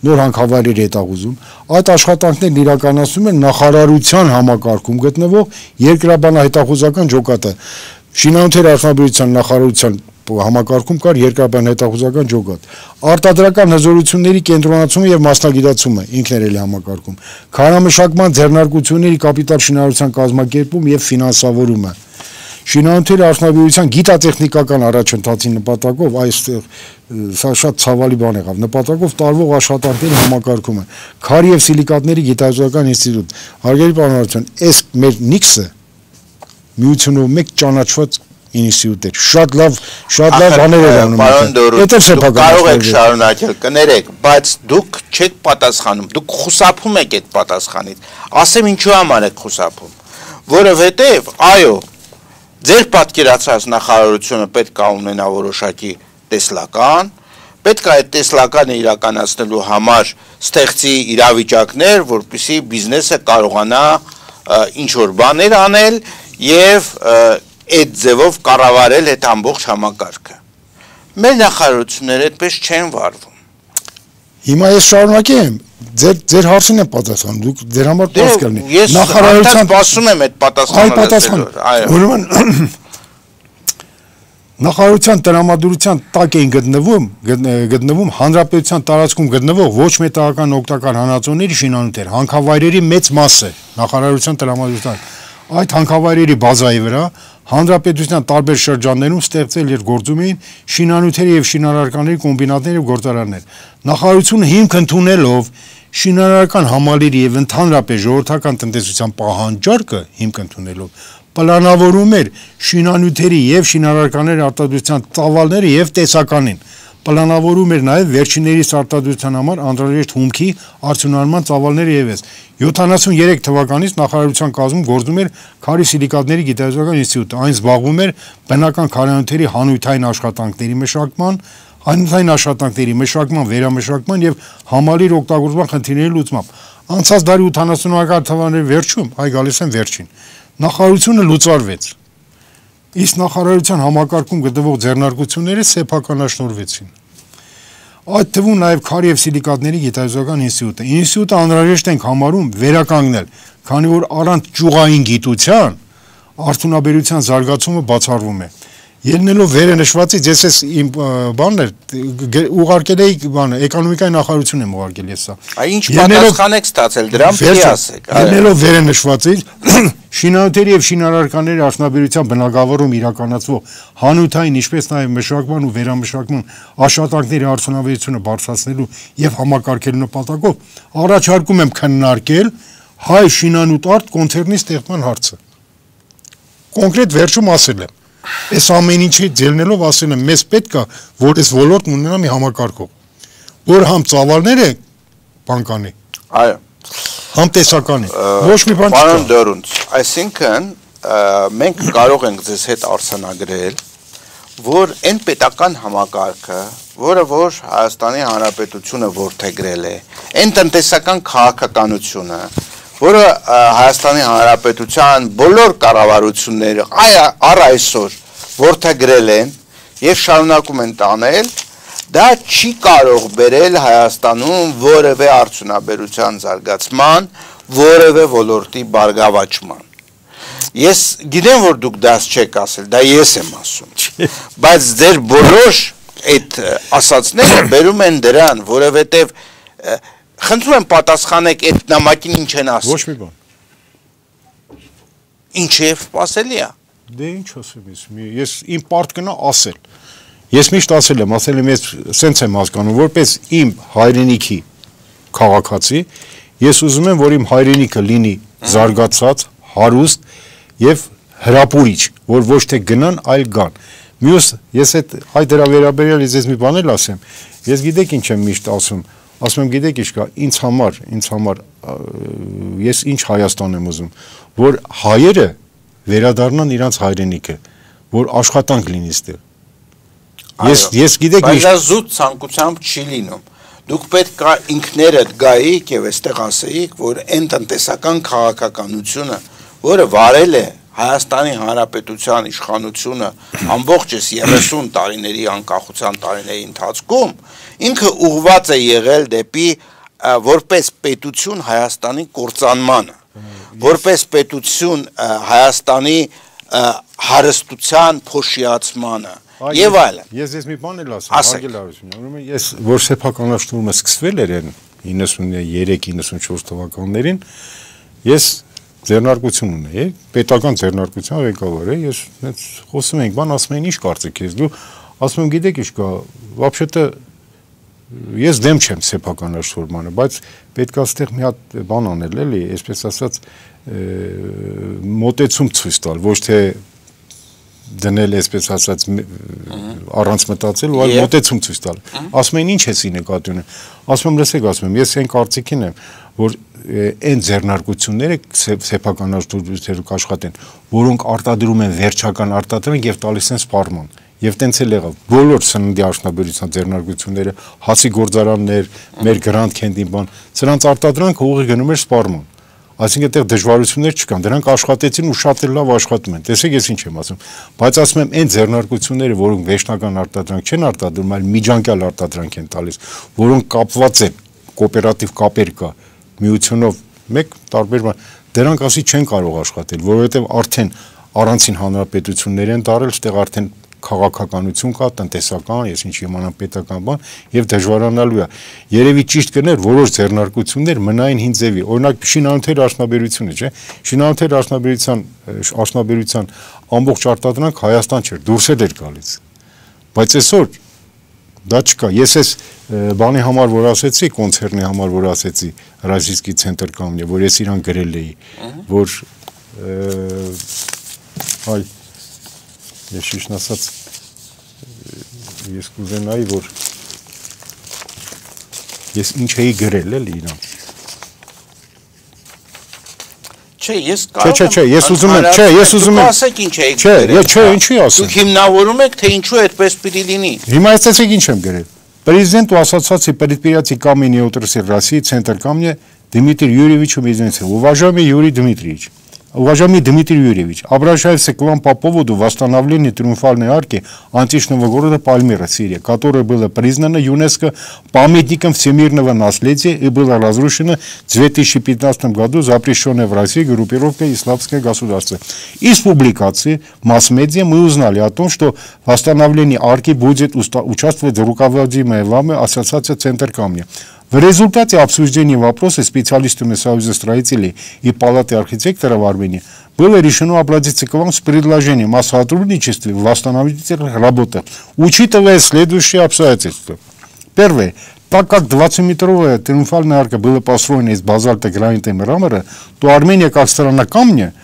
նոր հանքավայրերի հետախուզում, այդ աշխատանքներն իրականացնում են նախարարության համակարգում գտնվող երկրաբանահետախուզական ջոկատը։ Շինանյութերի արդյունաբերության նախարարության համակարգում կար երկրաբան հետախուզական ջոկատ։ Արտադրական հզորությունների կենտրոնացումը եւ մասնագիտացումը ինքն էր էլի համակարգում։ Քարամշակման ձեռնարկությունների կապիտալ շինարարության կազմակերպում եւ ֆինանսավորումը։ Շինանյութերի արդյունաբերության գիտատեխնիկական առաջընթացի նպատակով այստեղ սա շատ ցավալի բան եղավ նպատակով տարվող աշխատանքների համակարգումը քարի եւ սիլիկատների գիտահետազոտական ինստիտուտ հարգելի պարոնություն այս մեր նիքսը միությունով մեկ ճանաչված ինստիտուտ էր շատ լավ շատ լավ բաներ էր անում դա կարող եք շարունակել կներեք բայց դուք չեք պատասխանում դուք խուսափում եք այդ պատասխանից ասեմ ինչու համար եք խուսափում որովհետեւ այո Ձեր պատկերացած նախարարությունը պետք է ունենա որոշակի տեսլական, պետք է այդ տեսլականը իրականացնելու համար ստեղծի իրավիճակներ, որպեսզի բիզնեսը կարողանա ինչ-որ բաներ անել եւ այդ ձևով կառավարել այդ ամբողջ համակարգը։ Մեր նախարարությունները այդպես չեն վարվում։ Հիմա ես շարունակեմ Ձեր ձեր հարցին եմ պատասխանում, դուք ձեր համար պարզ կլինի։ Նախարարության սպասում եմ այդ պատասխանը։ Այո, ուրեմն Նախարարության տրամադրության տակ էին գտնվում, գտնվում հանրապետության տարածքում գտնվող ոչ մետաղական օգտակար հանածոների շինանյութեր, հանքավայրերի մեծ մասը նախարարության տրամադրության այդ հանքավայրերի բազայի վրա հանրապետության տարբեր շրջաններում ստեղծել էր գործում էին շինանյութերի եւ շինարարականների կոմբինատներ եւ գործարաններ։ Նախարարությունը հիմք ընդունելով շինարարական համալիրի եւ ընդհանրապես ժողովրդական տնտեսության պահանջարկը հիմք ընդունելով պլանավորում էր շինանյութերի եւ շինարարականների արտադրության ծավալները եւ տեսականին պլանավորում էր նաեւ վերջիններիս արտադրության համար անհրաժեշտ հումքի արդյունահանման ծավալները եւս յոթանասունյոթ թվականից նախարարության կազմում գործում էր քարի սիլիկատների գիտահետազոտական ինստիտուտը այն զբաղվում էր բնական քարանյութերի հանույթային աշխատանքների մշակման հանույթային աշխատանքների մշակման վերամշակման եւ համալիր օգտագործման խնդիրների լուծմամբ անցած դարի ութանասունական թվականների վերջում այ գալիս են վերջին նախարարությունը լուծարվեց Իսկ նախարարության համակարգում գտնվող ձեռնարկությունները սեփականաշնորհվեցին։ Այդ թվում նաև քարի եւ սիլիկատների գիտահետազոտական ինստիտուտը։ Ինստիտուտը անհրաժեշտ ենք համարում վերականգնել, քանի որ առանց ճյուղային գիտության արդյունաբերության զարգացումը բացառվում է։ Ելնելով վերը նշվածից ես ես իմ բանն էր ուղարկել էի բանը էկոնոմիկայի նախարարությունն եմ ուղարկել ես սա։ Այ ինչ պատասխան եք ստացել դրան պիտի ասեք։ Ելնելով վերը նշվածից շինանյութերի եւ շինարարականների արդյունաբերության բնագավառում իրականացվող հանութային ինչպես նաեւ մշակման ու վերամշակման աշխատանքների արդյունավետությունը բարձրացնելու եւ համակարգելու նպատակով առաջարկում եմ քննարկել հայ շինանյութ արտ կոնցեռնի ստեղծման հարցը։ Կոնկրետ վերջում ասել եմ Այս ամեն ինչի ելնելով ասել եմ մեզ պետք է որ այս ոլորտն ունենա մի համակարգող որ համ ծավալները բանկանի այո համ տեսականի ոչ մի բան չկա Պարոն Դորունց այսինքն մենք կարող ենք ձեզ հետ արձանագրել որ այն պետական համակարգը որը որ Հայաստանի Հանրապետությունը որդեգրել է այն տնտեսական քաղաքականությունը որը Հայաստանի Հանրապետության բոլոր կառավարությունները առ այսօր որդեգրել են եւ շարունակում են տանել, դա չի կարող բերել Հայաստանում որևէ արդյունաբերության զարգացման, որևէ ոլորտի բարգավաճման։ Ես գիտեմ, որ դուք դա չեք ասել, դա ես եմ ասում, բայց ձեր բոլոր այդ ասածները բերում են դրան, որովհետեւ Խնդրում եմ պատասխանեք այդ նամակին ինչ են ասել։ Ոչ մի բան։ Ինչ է սպասելի է։ Դե ինչ ասեմ ես, ես իմ պարտքն է ասել։ Ես միշտ ասել եմ, ասել եմ ես սենց եմ հասկանում, որպես իմ հայրենիքի քաղաքացի, ես ուզում եմ, որ իմ հայրենիքը լինի զարգացած, հարուստ եւ հրապուրիչ, որ ոչ թե գնան, այլ գան։ Մյուս, ես այդ այդ դրա վերաբերյալ ես մի բան էլ ասեմ, ես գիտեք ինչ եմ միշտ ասում, ասում եմ գիտեք ինչ կա, ինձ համար, ինձ համար ես ինչ Հայաստան եմ ուզում, որ հայերը վերադառնան իրանց հայրենիքը, որ աշխատանք լինի ստեղ։ Ես ես գիտեք ինչ, բայց զուտ ցանկությամբ չի լինում։ Դուք պետք է ինքներդ գայիք եւ այստեղ ասեիք, որ այն տնտեսական քաղաքականությունը, որը վարել է Հայաստանի Հանրապետության իշխանությունը ամբողջս երեսուն տարիների անկախության տարիների ընթացքում, ինքը ուղղված է եղել դեպի որպես պետություն Հայաստանի կործանմանը, որպես պետություն Հայաստանի հարստության փոշիացմանը եւ այլն։ Ես ես մի բան էլ ասեմ, Արգել Արությունյան, ուրեմն ես որ սեփականաշնորհումը սկսվել էր իննսուններեք իննսունչորս թվականներին, ես ձեռնարկություն ունեի, պետական ձեռնարկության ղեկավար է, ես հենց խոսում ենք, բան ասում են, ինչ կարծիք ես դու, ասում եմ, գիտեք ինչ կա, вообще-то ես դեմ չեմ սեփականաշնորհմանը, բայց պետք է այստեղ մի հատ բան անել, էլի, այսպես ասած, մոտեցում ցույց տալ, ոչ թե դնել այսպես ասած առանց մտածել, այլ մոտեցում ցույց տալ։ Ասում են, ինչ էսի նկատի ունեմ։ Ասում եմ, լսեք, ասում եմ, ես այն կարծիքին եմ, որ այն ձեռնարկությունները սեփականաշնորհները կաշխատեն, որոնք արտադրում են վերջական արտադրանք եւ տալիս են սպառման։ Եվ տենց էլ եղավ։ Բոլոր սննդի արդյունաբերության ձեռնարկությունները, հացի գործարաններ, մեր Grand Candy բան, սրանց արտադրանքը ուղիղ գնում էր սպառման։ Այսինքն այդտեղ դժվարություններ չկան, դրանք աշխատեցին ու շատ էլ լավ աշխատում են։ Տեսեք, ես ինչ եմ ասում։ Բայց ասում եմ, այն ձեռնարկությունները, որոնք վերջնական արտադրանք չեն արտադրում, այլ միջանկյալ արտադրանք են տալիս, որոնք կապված են կոոպերատիվ կապեր կա, միությունով մեկ տարբեր բան, դրանք ասի չեն կարող աշխատել, որովհետև արդեն առանցին հանրապետություններ են դարել, այդտեղ արդեն քաղաքականություն կա, տնտեսական, ես ինչ իմանամ պետական բան եւ դժվարանալու է։ Երևի ճիշտ կներ որոշ ձեռնարկություններ մնային հին ձևի։ Օրինակ շինանյութերի արդյունաբերությունը, չէ՞։ Շինանյութերի արդյունաբերության արդյունաբերության ամբողջ արտադրանք Հայաստան չէր, դուրսել էր գալիս։ Բայց այսօր դա չկա։ Ես այս բանի համար որ ասեցի, կոնցերնի համար որ ասեցի, Ռազիսկի ցենտր կամնի, որ ես իրան գրել էի, որ այ ես շիշն ասած ես կուզենայի, որ ես ինչ էի գրել էլ իրան։ Չէ, ես կարող եմ։ Չէ, չէ, ես ուզում եմ, չէ, ես ուզում եմ։ Դուք ասեք ինչ էի գրել։ Չէ, չէ, ինչի ասում։ Դուք հիմնավորում եք, թե ինչու այդպես պիտի լինի։ Հիմա ասեցիք ինչ եմ գրել։ Президенту Ассоциации предприятий каменной отрасли России Центр камня Дмитрию Юрьевичу Медведеву. Уважаемый Юрий Дмитриевич, уважаемый Дмитрий Юрьевич, обращаюсь к вам по поводу восстановления триумфальной арки античного города Пальмира, Сирия, которая была признана ЮНЕСКО памятником всемирного наследия и была разрушена в две тысячи пятнадцатом году запрещенной в России группировкой «Исламское государство». Из публикации масс-медиа мы узнали о том, что в восстановлении арки будет участвовать руководимая вами Ассоциация «Центр камня». В результате обсуждения вопроса специалистами Союза строителей и Палаты архитекторов Армении было решено обратиться к вам с предложением о сотрудничестве в восстановительных работах, учитывая следующие обстоятельства. Первое. Так как двадцатиметровая триумфальная арка была построена из базальта, гранита и мрамора, то Армения как страна камня,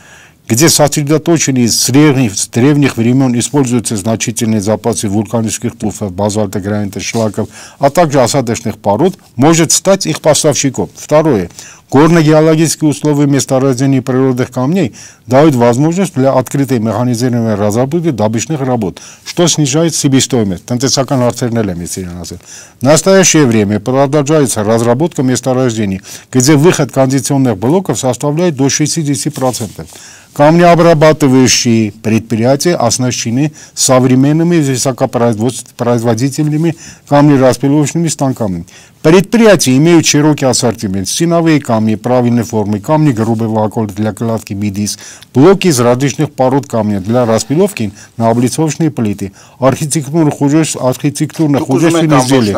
где сосредоточены с древних, с древних времен используются значительные запасы вулканических туфов, базальта, гранита, шлаков, а также осадочных пород, может стать их поставщиком. Второе. Горно-геологические условия месторождений природных камней дают возможность для открытой механизированной разработки добычных работ, что снижает себестоимость. В настоящее время продолжается разработка месторождений, где выход кондиционных блоков составляет до шестидесяти процентов. Камнеобрабатывающие предприятия оснащены современными высокопроизводительными камнераспиловочными станками. Предприятия имеют широкий ассортимент: стеновые камни правильной формы, камни грубого около для кладки МИДИС, блоки из различных пород камня для распиловки на облицовочные плиты, архитектурно-художественные изделия.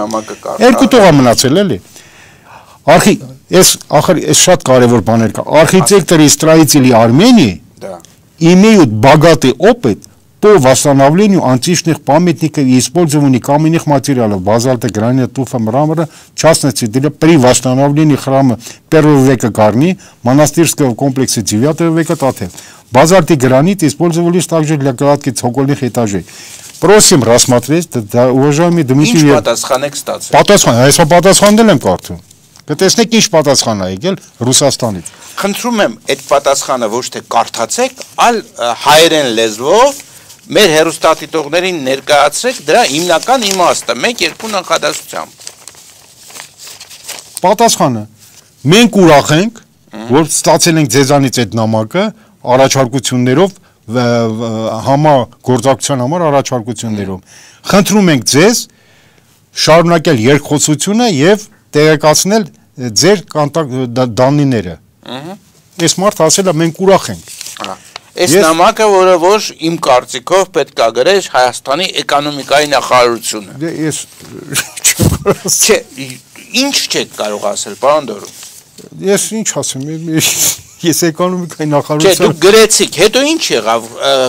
Архи... Эс, ахар, эс շատ կարևոր բաներ կա. Архитекторы и строители Армении да. имеют богатый опыт по восстановлению античных памятников и использованию каменных материалов, базальта, гранита, туфа, мрамора, в частности, для, при восстановлении храма первого века Карни, монастырского комплекса девятого века Тате. базальтовый гранит использовались также для кладки цокольных этажей. Просим рассмотреть, уважаемый Дмитрий. Ինչ պատասխան եք ստացել։ Պատասխան, այսօր պատասխանել եմ կարծում։ Կտեսնեք ինչ պատասխան է եկել Ռուսաստանից։ Խնդրում եմ այդ պատասխանը ոչ թե կարդացեք, այլ հայերեն լեզվով մեր հերոստատիտողներին ներկայացրեք դրա հիմնական իմաստը մեկ երկու նախադասությամբ։ Պատասխանը մենք ուրախ ենք, որ ստացել ենք ձեզանից այդ նամակը առաջարկություններով համագործակցության համար առաջարկություններով։ Խնդրում ենք ձեզ շարունակել երկխոսությունը եւ տեղեկացնել ձեր դանիները։ Այս մարդ ասել է մենք ուրախ ենք։ Այս նամակը, որը որ իմ կարծիքով պետք է գրեր Հայաստանի էկոնոմիկայի նախարարությունը։ Ես Չէ, ինչ չեք կարող ասել, պարոն Դորուն։ Ես ինչ ասեմ, ես էկոնոմիկայի նախարարություն։ Չէ, դուք գրեցիք, հետո ինչ եղավ,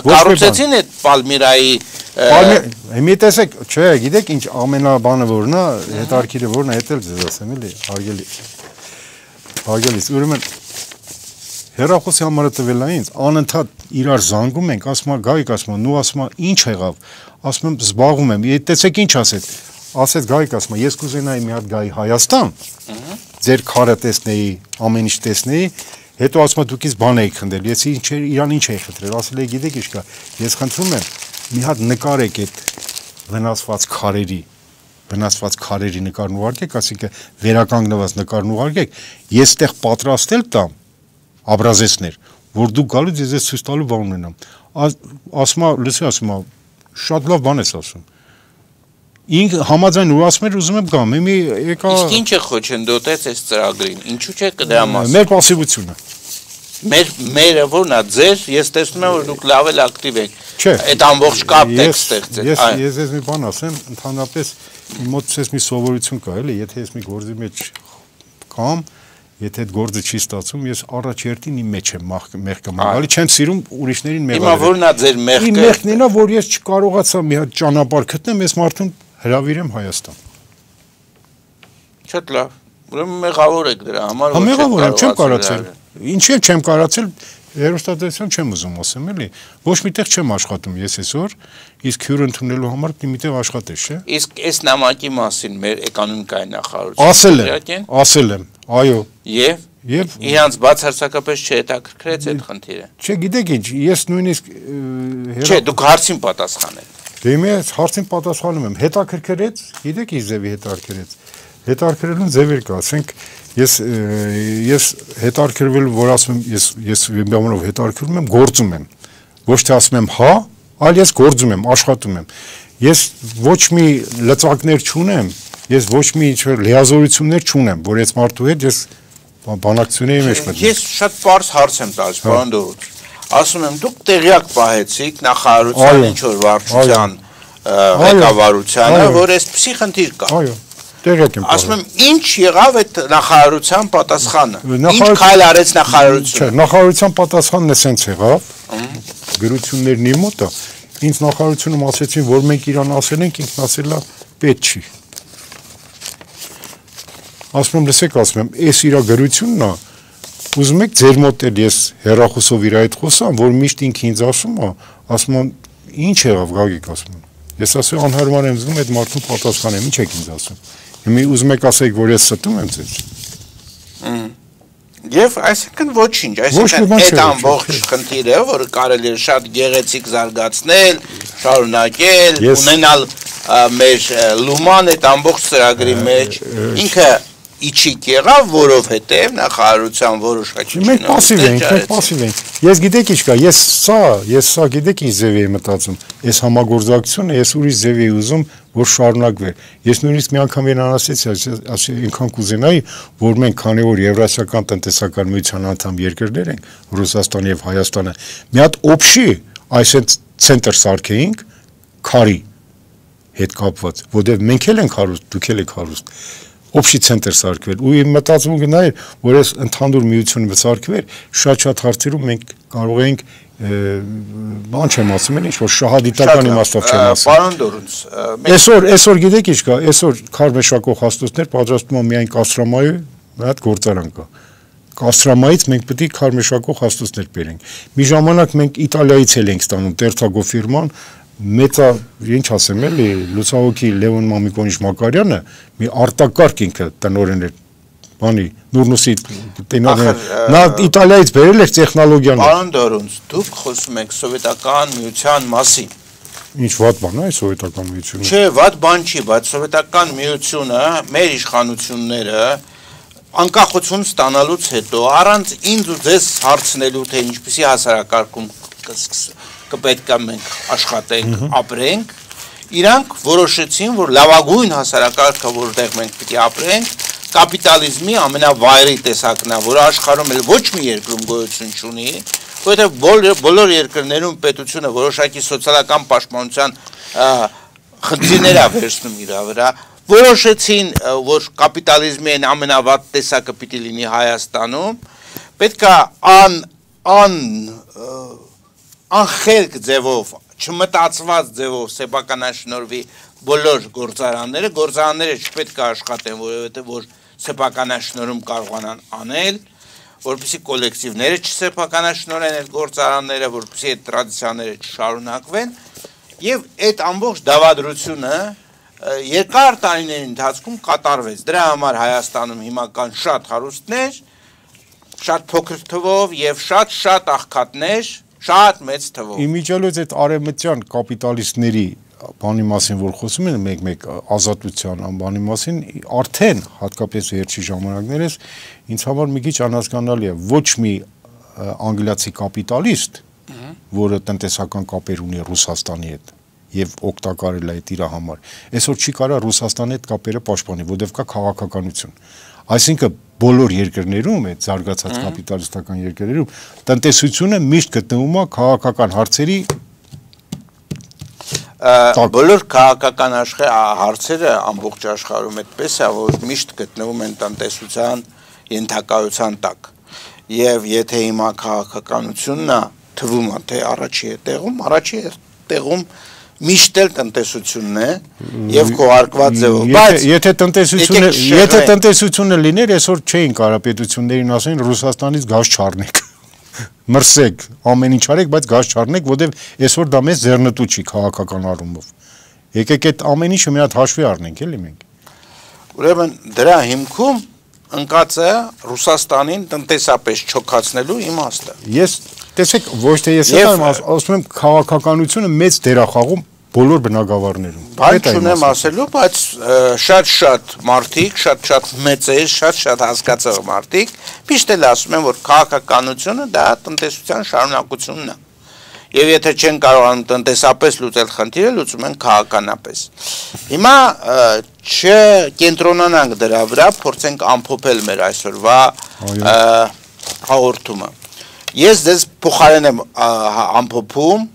կառուցեցին այդ Պալմիրայի Մի տեսեք, չէ, գիտեք ինչ ամենաբանը որն է, հետարքիրը որն է, հետ էլ ձեզ ասեմ, էլի, հարգելի։ Հարգելիս, ուրեմն հեռախոսի համարը տվել է ինձ, անընդհատ իրար զանգում ենք, ասում է Գայիկ, ասում է, նու ասում է, ինչ եղավ, ասում եմ զբաղվում եմ, տեսեք ինչ ասեց, ասեց Գայիկ, ասում է, ես կուզենայի մի հատ գայի Հայաստան, ձեր քարը տեսնեի, ամեն ինչ տեսնեի, հետո ասում է դուք ինձ բան եք խնդրել, ես ինչ իրան ինչ էի խնդրել, ասել էի գիտեք ինչ կա, ես խնդրում եմ մի հատ նկարեք այդ վնասված քարերի, վնասված քարերի նկարն ուղարկեք, ասինքն վերականգնված նկարն ուղարկեք, ես այդտեղ պատրաստել տամ образецներ, որ դուք գալուց ես ես ցույց տալու բան ունենամ։ Ասում է, լսի, ասում է, շատ լավ բան ես ասում։ Ինք համաձայն ու ասում էր ուզում եմ գամ, մի եկա։ Իսկ ինչ է խոչընդոտեց այս ծրագրին, ինչու՞ չէ կդրա մասին։ Մեր пассивությունը։ Մեր մերը որն է ձեր, ես տեսնում եմ որ դուք լավ էլ ակտիվ եք։ Չէ։ Այդ ամբողջ կապն եք ստեղծել։ Ես ես ես մի բան ասեմ, ընդհանրապես մոտ ցես մի սովորություն կա, էլի, եթե ես մի գործի մեջ կամ եթե այդ գործը չի ստացվում, ես առաջերտին իմ մեջ եմ մեղքը մաղալի, չեմ սիրում ուրիշներին մեղալ։ Հիմա որն է ձեր մեղքը։ Իմ մեղքն է, որ ես չկարողացա մի հատ ճանապարհ գտնեմ, ես մարդուն հրավիրեմ Հայաստան։ Շատ լավ։ Ուրեմն մեղավոր եք դրա համար, որ մեղավոր եմ, չեմ կարացել։ Ինչի՞ չեմ կարացել, հերոստատեսություն չեմ ուզում ասեմ, էլի։ Ոչ միտեղ չեմ աշխատում ես այսօր, իսկ հյուր ընդունելու համար միտեղ աշխատես, չէ։ Իսկ այս նամակի մասին մեր էկոնոմիկայի նախարարությունը ասել եմ, ասել եմ, այո։ Եվ Եվ իրանց բացարձակապես չհետաքրքրեց այդ խնդիրը։ Չէ, գիտեք ինչ, ես նույնիսկ Չէ, դուք հարցին պատասխանել։ Դե ես հարցին պատասխանում եմ, հետաքրքրեց, գիտեք ինչ ձևի հետաքրքրեց։ Հետաքրքրելուն ձևեր կա, ասենք ես ես հետաքրքրվել, որ ասում եմ, ես ես բանով հետաքրքրում եմ, գործում եմ։ Ոչ թե ասում եմ հա, այլ ես գործում եմ, աշխատում եմ։ Ես ոչ մի լծակներ չունեմ, ես ոչ մի լիազորություններ չունեմ, որ այս մարդու հետ ես բանակցությունների մեջ մտնեմ։ Ես շատ պարզ հարց եմ տալիս, պարոն Դորոց։ Ասում եմ, դուք տեղյակ պահեցիք նախարարության ինչ որ վարչության ղեկավարությանը, որ այսպիսի խնդիր կա։ Այո, տեղյակ եմ։ Ասում եմ, ինչ եղավ այդ նախարարության պատասխանը։ Ինչ քայլ արեց նախարարությունը։ Չէ, նախարարության պատասխանն է սենց եղավ։ Գրություններն իր մոտ է։ Ինձ նախարարությունում ասեցին, որ մենք իրան ասել ենք, ինքն ասել է պետք չի։ Ասում եմ, լսեք, ասում եմ, այս իր գրությունն է, ուզում եք ձեր մոտ էլ ես հեռախոսով իր այդ խոսամ, որ միշտ ինքը ինձ ասում է, ասում եմ, ինչ եղավ Գագիկ, ասում եմ։ Ես ասում եմ, անհարմար եմ զգում այդ մարդուն պատասխանեմ, ինչ եք ինձ ասում։ Հիմա ուզում եք ասեք, որ ես ստում եմ ձեզ։ Եվ այսինքն ոչինչ, այսինքն այդ ամբողջ խնդիրը, որը կարելի է շատ գեղեցիկ զարգացնել, շարունակել, ունենալ մեր լուման այդ ամբողջ ծրագրի մեջ, ինքը իջիկ եղավ, որովհետև նախարարության որոշակիչները մենք пассив ենք, մենք пассив ենք։ Ես գիտեք ինչ կա, ես սա, ես սա գիտեք ինչ ձև եմ մտածում։ Այս համագործակցությունը ես ուրիշ ձև եմ ուզում, որ շարունակվի։ Ես նույնիսկ մի անգամ իրան ասեցի, ասի ինքան կուզենայի, որ մենք քանի որ Եվրասիական տնտեսական միության անդամ երկրներ ենք, Ռուսաստանը եւ Հայաստանը, մի հատ օբշի, այսինքն ցենտր սարքեինք քարի հետ կապված, որտեղ մենք էլ ենք հարուստ, դուք էլ եք հարուստ։ Օբշի ցենտր սարքվել ու իմ մտածումը գնայր, որ այս ընդհանուր միությունը սարքվեր, շատ-շատ հարցերում մենք կարող ենք բան չեմ ասում, ինչ որ շահադիտական իմաստով չեմ ասում։ Պարոն Դորունց, այսօր այսօր գիտեք ինչ կա, այսօր քար մշակող հաստոցներ պատրաստում են միայն կաստրամայու մի հատ գործարան կա։ կաստրամայից մենք պետք է քարմեշակող հաստոցներ բերենք։ Մի ժամանակ մենք Իտալիայից էլ ենք ստանում Տերցագո ֆիրման, մեծա, ինչ ասեմ էլի, լուսահոգի Լևոն Մամիկոնիչ Մակարյանը մի արտակարգ ինքը տնօրեն էր, բանի Նուրնուսի տնօրեն, նա Իտալիայից բերել էր տեխնոլոգիան։ Պարոն Դորունց, դուք խոսում եք սովետական միության մասին։ Ինչ վատ բան է սովետական միությունը։ Չէ, վատ բան չի, բայց սովետական միությունը, մեր իշխանությունները անկախություն ստանալուց հետո առանց ինձ ու ձեզ հարցնելու, թե ինչպիսի հասարակարգում կպետք է մենք աշխատենք, ապրենք, իրանք որոշեցին, որ լավագույն հասարակարգը, որտեղ մենք պիտի ապրենք, կապիտալիզմի ամենավայրի տեսակն է, որը աշխարհում էլ ոչ մի երկրում գոյություն չունի, որովհետև բոլոր երկրներում պետությունը որոշակի սոցիալական պաշտպանության խնդիրներ է վերցնում իր վրա, որոշեցին, որ կապիտալիզմի այն ամենավատ տեսակը պիտի լինի Հայաստանում, պետք է ան ան անխելք ձևով, չմտածված ձևով սեփականաշնորհվի բոլոր գործարանները, գործարանները չպետք է աշխատեն, որովհետև որ սեփականաշնորհում կարողանան անել, որպեսզի կոլեկտիվները չսեփականաշնորհեն այդ գործարանները, որպեսզի այդ տրադիցիաները չշարունակվեն, եւ այդ ամբողջ դավադրությունը երկար տարիների ընթացքում կատարվեց։ Դրա համար Հայաստանում հիմա կան շատ հարուստներ, շատ փոքր թվով եւ շատ-շատ աղքատներ, շատ մեծ թվով։ Իմիջիալոց այդ արևմտյան կապիտալիստների բանի մասին, որ խոսում են մեկ-մեկ ազատության անբանի մասին, արդեն հատկապես վերջի ժամանակներս ինձ համար մի քիչ անհասկանալի է, ոչ մի անգլիացի կապիտալիստ, որը տնտեսական կապեր ունի Ռուսաստանի հետ եւ օգտակարել է այդ իր համար, այսօր չի կարող Ռուսաստանի հետ կապերը պաշտպանի, որովհետեւ կա քաղաքականություն։ Այսինքն բոլոր երկրներում, այդ զարգացած կապիտալիստական երկրներում տնտեսությունը միշտ գտնվում է քաղաքական հարցերի բոլոր քաղաքական հարցերը ամբողջ աշխարհում այդպես է, որ միշտ գտնվում են տնտեսության ենթակայության տակ։ Եվ եթե հիմա քաղաքականությունն է թվում է, թե առաջի է տեղում, առաջի է տեղում միշտ էլ տնտեսությունն է եւ քողարկված ձևով, բայց եթե տնտեսությունը եթե տնտեսությունը լիներ, այսօր չէին կարող պետություններին ասեն Ռուսաստանից գազ չառնեք։ Մրսեք, ամեն ինչ արեք, բայց գազ չառնեք, որովհետև այսօր դա մեզ ձեռնտու չի քաղաքական առումով։ Եկեք այդ ամեն ինչը մի հատ հաշվի առնենք, էլի մենք։ Ուրեմն դրա հիմքում ընկած է Ռուսաստանին տնտեսապես չոքացնելու իմաստը։ Ես տեսեք, ոչ թե ես եմ ասում եմ քաղաքականությունը մեծ դեր է խաղում բոլոր բնակավարներում։ Բայց չունեմ ասելու, բայց շատ-շատ մարդիկ, շատ-շատ մեծեր, շատ-շատ հասկացող մարդիկ միշտ էլ ասում են, որ քաղաքականությունը դա տնտեսության շարունակությունն է։ Եվ եթե չեն կարողանում տնտեսապես լուծել խնդիրը, լուծում են քաղաքականապես։ Հիմա չկենտրոնանանք դրա վրա, փորձենք ամփոփել մեր այսօրվա հաղորդումը։ Ես ձեզ փոխարեն եմ ամփոփում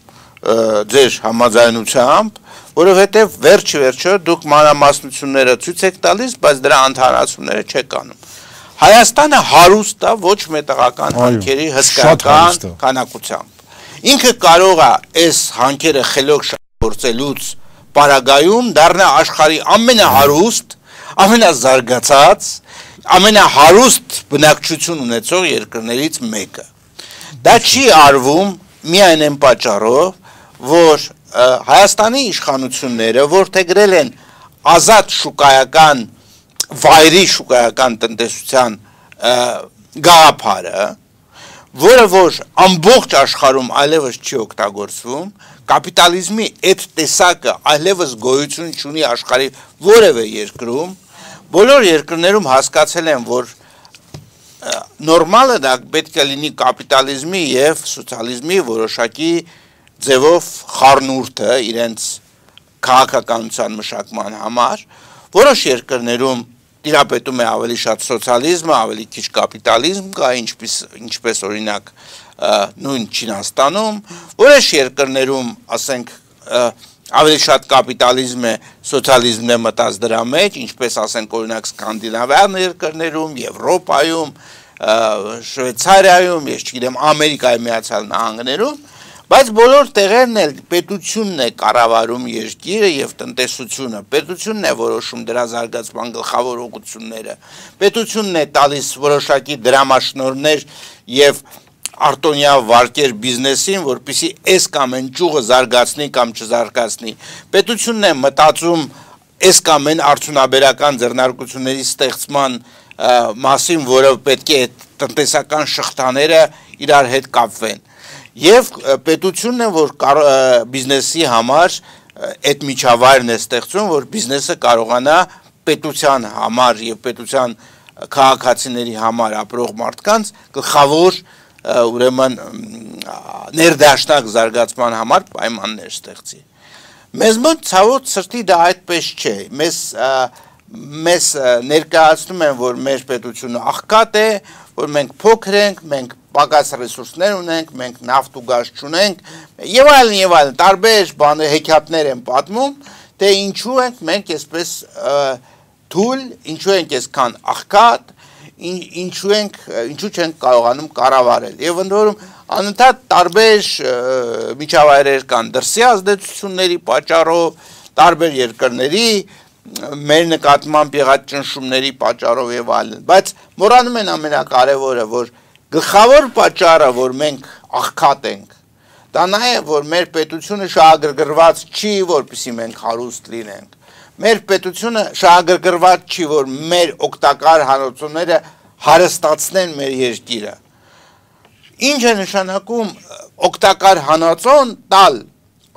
ձեր համաձայնությամբ, որովհետև վերջ-վերջը դուք մանրամասնությունները ցույց եք տալիս, բայց դրա ընդհանրացումները չեք անում։ Հայաստանը հարուստ է ոչ մետաղական հանքերի հսկայական քանակությամբ։ Ինքը կարող է այս հանքերը խելոք շահագործելուց պարագայում դառնա աշխարհի ամենահարուստ, ամենազարգացած, ամենահարուստ բնակչություն ունեցող երկրներից մեկը։ Դա չի արվում միայն այն պատճառով, որ Հայաստանի իշխանությունները որդեգրել են ազատ շուկայական վայրի շուկայական տնտեսության գաղափարը, որը որ ամբողջ աշխարհում այլևս չի օգտագործվում, կապիտալիզմի այդ տեսակը այլևս գոյություն չունի աշխարհի որևէ երկրում, բոլոր երկրներում հասկացել են, որ նորմալը դա պետք է լինի կապիտալիզմի եւ սոցիալիզմի որոշակի ձևով խառնուրդը իրենց քաղաքականության մշակման համար, որոշ երկրներում տիրապետում է ավելի շատ սոցիալիզմը, ավելի քիչ կապիտալիզմ կա, ինչպես ինչպես օրինակ նույն Չինաստանում, որոշ երկրներում, ասենք, ավելի շատ կապիտալիզմ է, սոցիալիզմն է մտած դրա մեջ, ինչպես ասենք օրինակ սկանդինավյան երկրներում, Եվրոպայում, Շվեյցարիայում, ես չգիտեմ, Ամերիկայի Միացյալ Նահանգներում, Բայց բոլոր տեղերն էլ պետությունն է կառավարում երկիրը եւ տնտեսությունը, պետությունն է որոշում դրա զարգացման գլխավոր ուղղությունները, պետությունն է տալիս որոշակի դրամաշնորհներ եւ արտոնյա վարկեր բիզնեսին, որպեսզի այս կամ այն ճյուղը զարգացնի կամ չզարգացնի, պետությունն է մտածում այս կամ այն արդյունաբերական ձեռնարկությունների ստեղծման մասին, որը պետք է տնտեսական շղթաները իրար հետ կապվեն։ Եվ պետությունն է, որ բիզնեսի համար այդ միջավայրն է ստեղծում, որ բիզնեսը կարողանա պետության համար եւ պետության քաղաքացիների համար ապրող մարդկանց գլխավոր ուրեմն ներդաշնակ զարգացման համար պայմաններ ստեղծի։ Մեզ մոտ ցավոտ սրտի դա այդպես չէ։ Մեզ մեզ ներկայացնում են, որ մեր պետությունը աղքատ է, որ մենք փոքր ենք, մենք պակաս ռեսուրսներ ունենք, մենք նավթ ու գազ չունենք, եւ այլն եւ այլն, տարբեր բաներ հեքիաթներ են պատմում, թե ինչու ենք մենք այսպես թույլ, ինչու ենք այսքան աղքատ, ինչու ենք, ինչու չենք կարողանում կառավարել։ Եվ ընդ որում անընդհատ տարբեր միջավայրեր կան դրսի ազդեցությունների պատճառով, տարբեր երկրների մեր նկատմամբ եղած ճնշումների պատճառով եւ այլն, բայց մոռանում են ամենակարևորը, որ գլխավոր պատճառը, որ մենք աղքատ ենք, դա նա է, որ մեր պետությունը շահագրգռված չի, որպեսզի մենք հարուստ լինենք։ Մեր պետությունը շահագրգռված չի, որ մեր օգտակար հանրությունները հարստացնեն մեր երկիրը։ Ինչ է նշանակում օգտակար հանածոն տալ,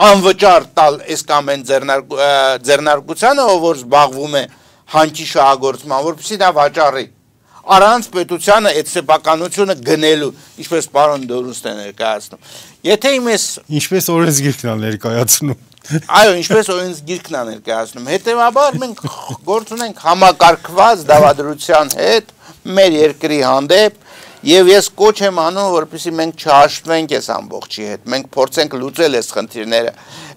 անվճար տալ այս կամ այն ձեռնարկությանը, որ զբաղվում է հանքի շահագործման, որպեսզի դա վաճառի։ Առանց պետությանը այդ սեփականությունը գնելու, ինչպես պարոն Դորունցն է ներկայացնում։ Եթե իմես ինչպես օրենսգիրքն է ներկայացնում։ Այո, ինչպես օրենսգիրքն է ներկայացնում։ Հետևաբար մենք գործ ունենք համակարգված դավադրության հետ մեր երկրի հանդեպ, եւ ես կոչ եմ անում, որպեսզի մենք չհաշվենք այս ամբողջի հետ, մենք փորձենք լուծել այս խնդիրները։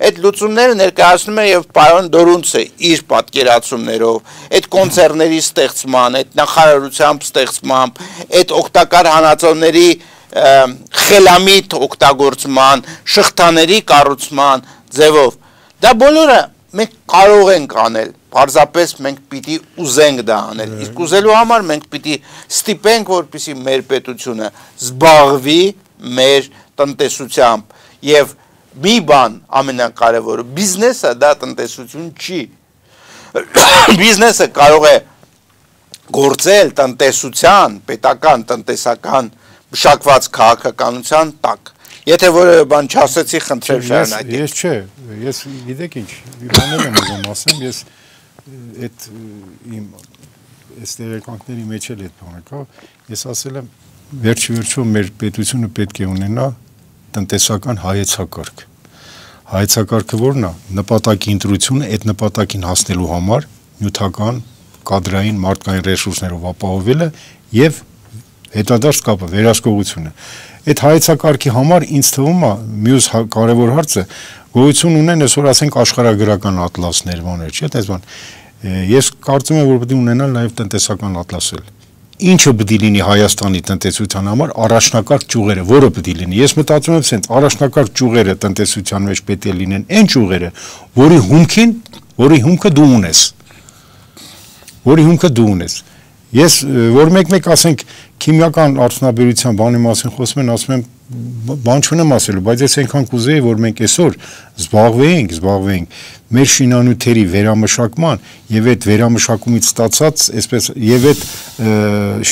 Այդ լուծումները ներկայացնում է եւ պարոն Դորունցը իր պատկերացումներով, այդ կոնցերնների ստեղծման, այդ նախարարությամբ ստեղծմամբ, այդ օգտակար հանածոների խելամիտ օգտագործման, շղթաների կառուցման ձևով։ Դա բոլորը մենք կարող ենք անել, պարզապես մենք պիտի ուզենք դա անել, իսկ ուզելու համար մենք պիտի ստիպենք, որպեսզի մեր պետությունը զբաղվի մեր տնտեսությամբ եւ մի բան ամենակարևորը, բիզնեսը դա տնտեսություն չի։ Բիզնեսը կարող է գործել տնտեսության, պետական տնտեսական մշակված քաղաքականության տակ։ Եթե որևէ բան չասեցի, խնդրեմ շարունակեք։ Ես չէ, ես գիտեք ինչ, բաներ եմ ուզում ասեմ, ես այդ իմ այս տեղեկանքների մեջ էլ այդ բանը կա, ես ասել եմ վերջի վերջում մեր պետությունը պետք է ունենա տնտեսական հայեցակարգ։ Հայեցակարգը որն է, նպատակի ընտրությունը այդ նպատակին հասնելու համար նյութական, կադրային, մարդկային ռեսուրսներով ապահովելը եւ հետադարձ կապը, վերահսկողությունը։ Այդ հայեցակարգի համար ինձ թվում է մյուս կարևոր հարցը գոյություն ունեն այսօր ասենք աշխարհագրական ատլասներ, բաներ, չէ՞, այդպես բան։ Ես կարծում եմ, որ պետք է ունենալ նաև տնտեսական ատլասել։ Ինչը պետք է լինի Հայաստանի տնտեսության համար առաջնակարգ ճյուղերը, որը պետք է լինի։ Ես մտածում եմ, ասենց առաջնակարգ ճյուղերը տնտեսության մեջ պետք է լինեն այն ճյուղերը, որի հումքին, որի հումքը դու ունես։ Որի հումքը դու ունես։ Ես որ մեկ-մեկ ասենք քիմիական արդյունաբերության բանի մասին խոսում են, ասում եմ բան չունեմ ասելու, բայց ես այնքան կուզեի, որ մենք այսօր զբաղվեինք, զբաղվեինք մեր շինանյութերի վերամշակման եւ այդ վերամշակումից ստացած, այսպես եւ այդ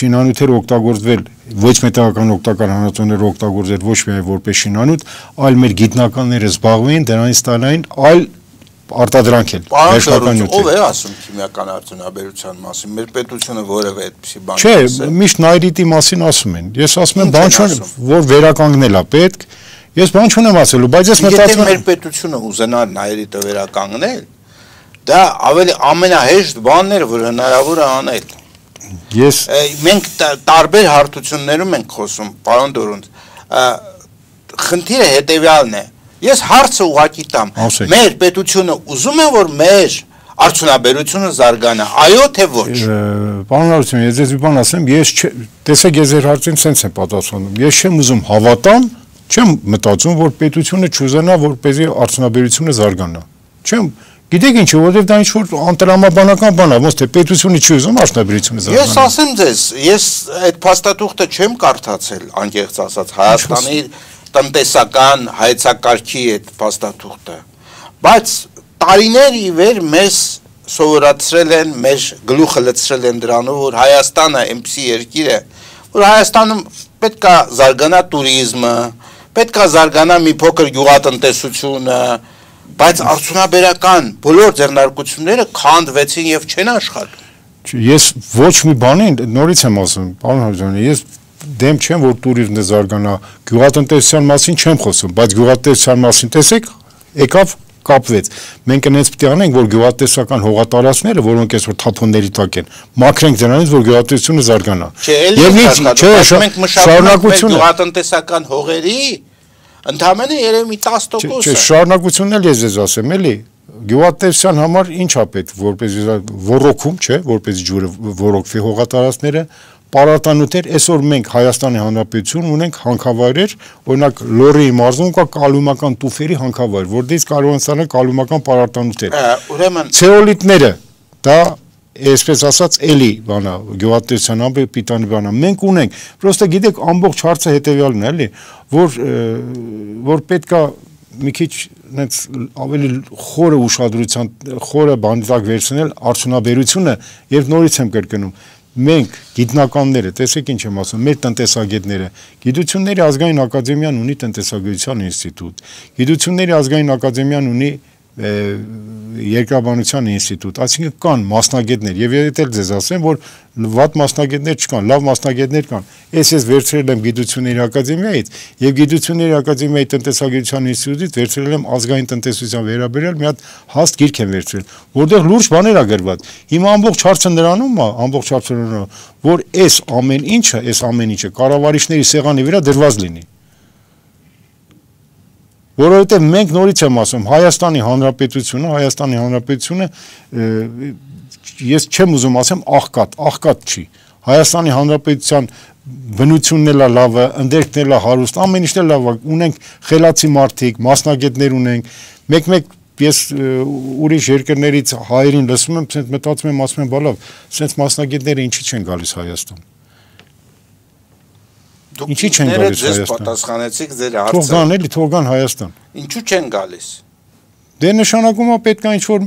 շինանյութերը օգտագործվել ոչ մետաղական օգտակար հանածոները օգտագործել ոչ միայն որպես շինանյութ, այլ մեր գիտնականները զբաղվեին դրանից տանային այլ արտադրանք էլ վերջնական նյութեր։ Ով է ասում քիմիական արդյունաբերության մասին։ Մեր պետությունը որևէ այդպիսի բան չէ, միշտ նայրիտի մասին ասում են։ Ես ասում եմ, բան չունեմ, որ վերականգնել է պետք։ Ես բան չունեմ ասելու, բայց ես մտածում եմ, մեր պետությունը ուզենար նայրիտը վերականգնել, դա ավելի ամենահեշտ բանն էր, որ հնարավոր է անել։ Ես մենք տարբեր հարթություններում ենք խոսում, պարոն Դորունց։ Խնդիրը հետեւյալն է։ Ես հարցը ուղղակի տամ, մեր պետությունը ուզում է, որ մեր արդյունաբերությունը զարգանա, այո թե ոչ։ Պարոն Արությունյան, ես ձեզ մի բան ասեմ, ես տեսեք ես ձեր հարցին սենց եմ պատասխանում, ես չեմ ուզում հավատամ, Չեմ մտածում, որ պետությունը չուզենա, որպեսզի արդյունաբերությունը զարգանա։ Չեմ, գիտեք ինչ, որովհետև դա ինչ-որ անտրամաբանական բան է, ոնց թե պետությունը չի ուզում արդյունաբերությունը զարգանա։ Ես ասեմ ձեզ, ես այդ փաստաթուղթը չեմ կարդացել, անկեղծ ասած, Հայաստանի տնտեսական հայեցակարգի այդ փաստաթուղթը, բայց տարիներ ի վեր մեզ սովորացրել են, մեր գլուխը լցրել են դրանով, որ Հայաստանը այնպիսի երկիր է, որ Հայաստանում պետք է զարգանա տուրիզմը, պետք է զարգանա մի փոքր գյուղատնտեսությունը, բայց արդյունաբերական բոլոր ձեռնարկությունները քանդվեցին եւ չեն աշխատում։ Ես ոչ մի բանի նորից եմ ասում, պարոն Հարությունյան, ես դեմ չեմ, որ տուրիզմը զարգանա, գյուղատնտեսության մասին չեմ խոսում, բայց գյուղատնտեսության մասին տեսեք, եկավ կապվեց։ Մենք այնպես պետք է անենք, որ գյուղատնտեսական հողատարածքները, որոնք այսօր թափոնների տակ են, մաքրենք դրանից, որ գյուղատնտեսությունը զարգանա։ Եվ մենք մշակում գյուղատնտեսական հողերի ընդհանրապես երևի մի տասը տոկոս։ Չէ, շարունակությունն էլ ես ձեզ ասեմ, էլի, գյուղատնտեսության համար ինչ է պետք, որպեսզի ոռոգում, չէ, որպեսզի ջուրը ոռոգվի հողատարածքները, պարարտանյութեր, այսօր մենք Հայաստանի Հանրապետություն ունենք հանքավայրեր, օրինակ Լոռիի մարզում կա կալումական տուֆերի հանքավայր, որտեղից կարող են ստանալ կալումական պարարտանյութեր։ Ուրեմն ցեոլիտները, դա այսպես ասած էլի բանա, գյուղատնտեսության ամբողջ պիտանի բանա։ Մենք ունենք, պրոստը գիտեք, ամբողջ հարցը հետևյալն է, էլի, որ որ պետքա մի քիչ այնց ավելի խորը ուշադրության, խորը բանտակ վերցնել արդյունաբերությունը եւ նորից եմ կրկնում։ Մենք գիտնականները, տեսեք ինչ եմ ասում, մեր տնտեսագետները, Գիտությունների ազգային ակադեմիան ունի տնտեսագիտության ինստիտուտ, Գիտությունների ազգային ակադեմիան ունի երկրաբանության ինստիտուտ, այսինքն կան մասնագետներ, եւ եթե ձեզ ասեմ, որ վատ մասնագետներ չկան, լավ մասնագետներ կան։ Ես ես վերցրել եմ Գիտությունների ակադեմիայից եւ Գիտությունների ակադեմիայի տնտեսագիտության ինստիտուտից վերցրել եմ ազգային տնտեսության վերաբերյալ մի հատ հաստ գիրք եմ վերցրել, որտեղ լուրջ բաներ ա գրված։ Հիմա ամբողջ հարցը նրանում է, ամբողջ հարցը նրանում, որ այս ամեն ինչը, այս ամեն ինչը կառավարիչների սեղանի վրա դրված լինի։ Որովհետև մենք նորից եմ ասում, Հայաստանի Հանրապետությունը, Հայաստանի Հանրապետությունը ես չեմ ուզում ասեմ աղքատ, աղքատ չի։ Հայաստանի Հանրապետության բնությունն էլ է լավը, ընդերքն էլ է հարուստ, ամեն ինչն էլ լավ է, ունենք խելացի մարդիկ, մասնագետներ ունենք, մեկ-մեկ ես ուրիշ երկրներից հայերին լսում եմ, ցենց մտածում եմ, ասում եմ, բալավ, ցենց մասնագետները ինչի չեն գալիս Հայաստան։ Ինչի չեն գալիս Հայաստան։ Պատասխանեցիք ձեր հարցը։ Թող գան էլի, թող գան Հայաստան։ Ինչու չեն գալիս։ Դե նշանակում է պետք է ինչ-որ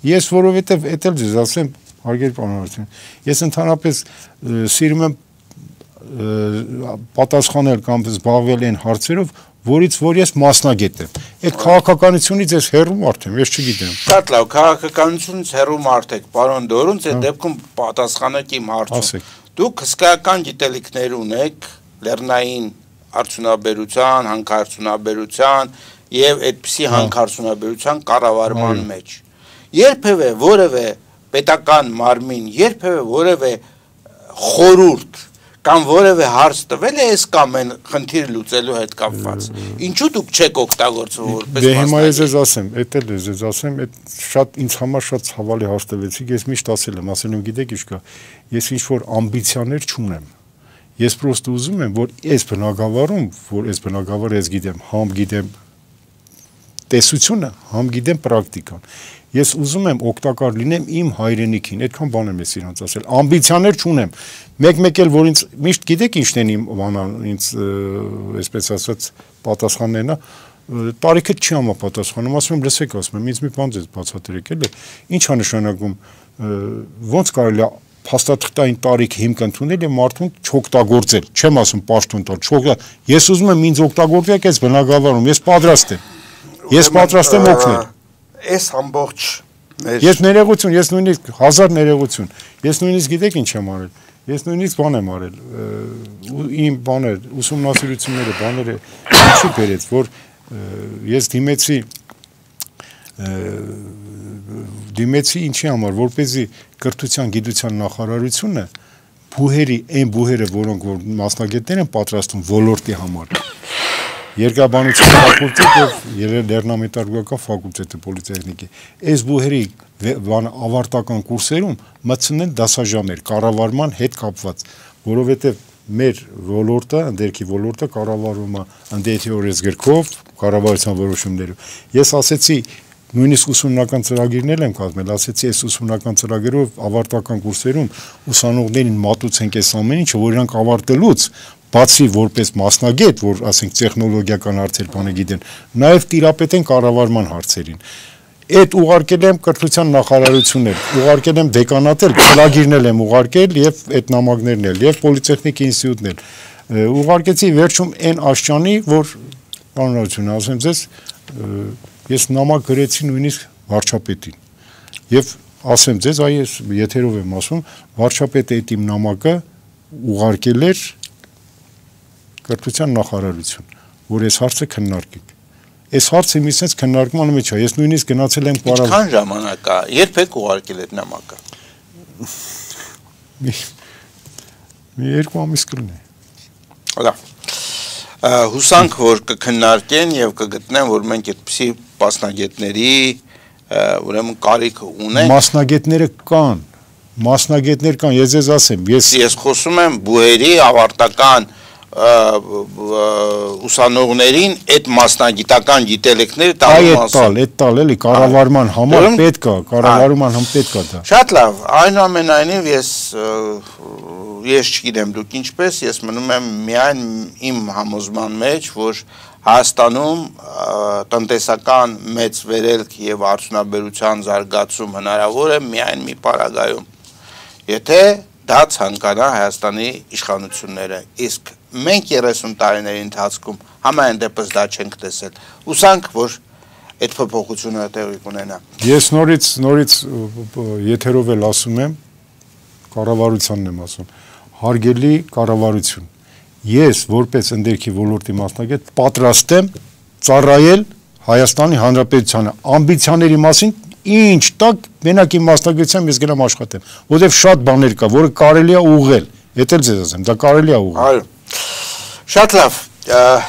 ես որովհետև էդ էլ ձեզ ասեմ, հարգելի պարոն Հարությունյան, ես ընդհանրապես սիրում եմ պատասխանել կամ զբաղվել այն հարցերով, որից որ ես մասնագետ եմ։ Այդ քաղաքականությունից ես հեռու մարդ եմ, ես չգիտեմ։ Շատ լավ, քաղաքականությունից հեռու մարդ եք, պարոն Դորունց, այդ դեպքում պատասխանեք իմ հարցին։ Դուք հսկայական գիտելիքներ ունեք լեռնային արդյունաբերության, հանքարդյունաբերության եւ այդպիսի հանքարդյունաբերության կառավարման մեջ։ Երբևէ որևէ պետական մարմին, երբևէ որևէ խորհուրդ կամ որևէ հարց տվել է այս կամ այն խնդիրը լուծելու հետ կապված։ Ինչու դուք չեք օգտագործվում որպես մասնագետ։ Դե հիմա ես ձեզ ասեմ, էդ էլ ես ձեզ ասեմ, այդ շատ ինձ համար շատ ցավալի հարց տվեցիք, ես միշտ ասել եմ, ասել եմ, գիտեք ինչ կա, ես ինչ որ ամբիցիաներ չունեմ։ Ես պրոստը ուզում եմ, որ այս բնակավարում, որ այս բնակավարը ես գիտեմ, համ գիտեմ տեսությունը, համ գիտեմ պրակտիկան։ Ես ուզում եմ օգտակար լինեմ իմ հայրենիքին, այդքան բան եմ ես իրանց ասել։ Ամբիցիաներ չունեմ։ Մեկ-մեկ էլ որ ինձ միշտ գիտեք ինչն են իմ բանան, ինձ այսպես ասած պատասխաններն է, տարիքը չի համապատասխանում, ասում եմ, լսեք, ասում եմ, ինձ մի բան ձեզ բացատրեք, էլի։ Ինչ է նշանակում, ոնց կարելի է փաստաթղթային տարիք հիմք ընդունել եւ մարդուն չօգտագործել։ Չեմ ասում պաշտոն տալ, չօգտա։ Ես ուզում եմ ինձ օգտագործեք այս բնակավարում, ես պատրաստ եմ։ Ես պատրաստ եմ օգնել։ Այս ամբողջ Ես ներողություն, ես նույնիսկ հազար ներողություն։ Ես նույնիսկ գիտեք ինչ եմ արել։ Ես նույնիսկ բան եմ արել։ Իմ բաներ, ուսումնասիրությունները, բաները ինչի բերեց, որ ես դիմեցի դիմեցի ինչի համար, որպեսզի կրթության գիտության նախարարությունը բուհերի, այն բուհերը, որոնք որ մասնագետներ են պատրաստում ոլորտի համար, Երկրաբանության ֆակուլտետը եւ Լեռնամետալուրգիական ֆակուլտետը պոլիտեխնիկի, այս բուհերի ավարտական կուրսերում մտցնեն դասաժամեր կառավարման հետ կապված, որովհետեւ մեր ոլորտը, ընդերքի ոլորտը կառավարվում է ընդդեթի օրենսգրքով, կառավարության որոշումներով։ Ես ասեցի, նույնիսկ ուսումնական ծրագիրներ եմ կազմել, ասեցի, այս ուսումնական ծրագրերով ավարտական կուրսերում ուսանողներին մատուցենք այս ամեն ինչը, որ իրանք ավարտելուց բացի որպես մասնագետ, որ ասենք տեխնոլոգիական հարցեր բանը գիտեն, նաև տիրապետեն կառավարման հարցերին։ Այդ ուղարկել եմ կրթության նախարարություններ, ուղարկել եմ դեկանատել, ծրագիրներ եմ ուղարկել եւ այդ նամակներն էլ եւ պոլիտեխնիկ ինստիտուտն էլ։ Ուղարկեցի վերջում այն աշճանի, որ բանալություն ասեմ ձեզ, ես նամակ գրեցի նույնիսկ վարչապետին։ Եվ ասեմ ձեզ, այ ես եթերով եմ ասում, վարչապետը այդ իմ նամակը ուղարկել էր կրթության նախարարություն, որ այս հարցը քննարկենք։ Այս հարցը մի sense քննարկման մեջ է։ Ես նույնիսկ գնացել եմ կառավ։ Ինչքան ժամանակ է։ Երբ եք ուղարկել այդ նամակը։ Մի երկու ամիս կլինի։ Լավ։ Հուսանք, որ կքննարկեն եւ կգտնեն, որ մենք այդպիսի մասնագետների ուրեմն կարիք ունենք։ Մասնագետները կան։ Մասնագետներ կան, ես ձեզ ասեմ, ես Ես խոսում եմ բուհերի ավարտական ուսանողներին այդ մասնագիտական գիտելիքները տալու մասին։ Այդ տալ, էլի կառավարման համար պետք է, կառավարման համար պետք է դա։ Շատ լավ, այնուամենայնիվ ես ես չգիտեմ դուք ինչպես, ես մնում եմ միայն իմ համոզման մեջ, որ Հայաստանում տնտեսական մեծ վերելք եւ արդյունաբերության զարգացում հնարավոր է միայն մի պարագայում։ Եթե դա ցանկանա Հայաստանի իշխանությունները, իսկ մենք երեսուն տարիների ընթացքում համայն դեպս դա չենք տեսել։ Ուսանք, որ այդ փոփոխությունը տեղի կունենա։ Ես նորից նորից եթերով էլ ասում եմ, կառավարությանն եմ ասում, հարգելի կառավարություն, ես որպես ընդերքի ոլորտի մասնագետ պատրաստ եմ ծառայել Հայաստանի Հանրապետությանը ամբիցիաների մասին ինչ տակ մենակ իմ մասնագիտությամբ ես գնամ աշխատեմ, որովհետև շատ բաներ կա, որը կարելի է ուղղել, դա էլ ձեզ ասեմ, դա կարելի է ուղղել։ Այո։ Շատ լավ,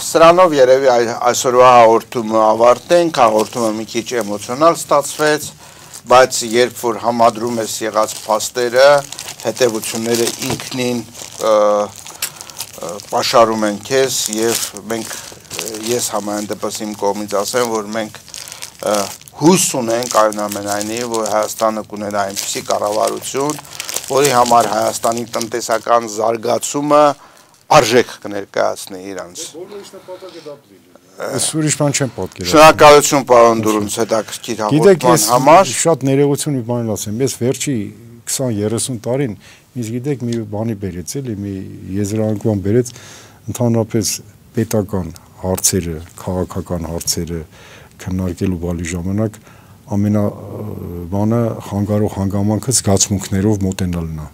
սրանով երևի այսօրվա հաղորդումը ավարտենք, հաղորդումը մի քիչ էմոցիոնալ ստացվեց, բայց երբ որ համադրում ես եղած փաստերը, հետևությունները ինքնին պաշարում են քեզ եւ մենք ես համայն դեպս իմ կողմից ասեմ, որ մենք հույս ունենք այնուամենայնիվ, որ Հայաստանը կունենա այնպիսի կառավարություն, որի համար Հայաստանի տնտեսական զարգացումը արժեք կներկայացնի իրանց։ Ես ուրիշ բան չեմ պատկերացնում։ Շնորհակալություն պարոն Դուրունց հետաքրքիր հաղորդման համար։ Շատ ներողություն մի բան ասեմ, ես վերջի քսան երեսուն տարին ինձ գիտեք մի բանի բերեց էլի, մի եզրանկման բերեց ընդհանրապես պետական հարցերը, քաղաքական հարցերը քննարկելու բալի ժամանակ ամենա բանը խանգարող հանգամանքը զգացմունքներով մոտենալն է։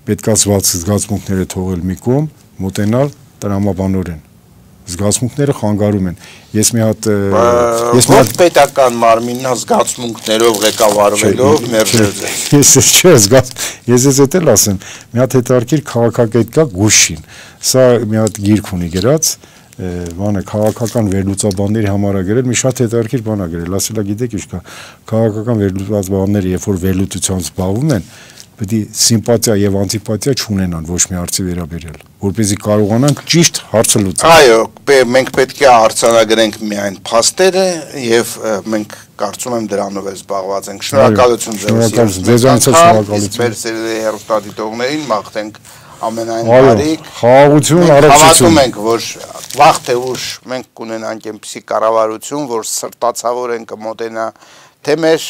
Պետքա զգացմունքները թողել մի կողմ, մոտենալ տրամաբանորեն։ Զգացմունքները խանգարում են։ Ես մի հատ ես մի հատ պետական մարմինն զգացմունքներով ղեկավարվելով մերժել է։ Ես չէ զգաց, ես ես էլ ասեմ, մի հատ հետարքիր քաղաքագետ կա Գուշին։ Սա մի հատ գիրք ունի գրած, բանը քաղաքական վերլուծաբանների համար է գրել, մի շատ հետարքիր բան է գրել, ասելա գիտեք ինչ կա, քաղաքական վերլուծաբանները երբ որ վերլուծությամբ զբաղվում են, պետք է սիմպաթիա եւ անտիպաթիա չունենան ոչ մի հարցի վերաբերյալ, որպեսզի կարողանանք ճիշտ հարցը լուծել։ Այո, մենք պետք է արձանագրենք միայն փաստերը եւ մենք կարծում եմ դրանով էլ զբաղված ենք։ Շնորհակալություն ձեզ։ Ձեզանից շնորհակալություն։ Մեր սիրելի հեռուստադիտողներին մաղթենք ամենայն բարիք, խաղաղություն, առողջություն։ Հավատում ենք, որ վաղ թե ուշ մենք կունենանք այնպիսի կառավարություն, որ սրտացավորեն կմոտենա թե մեր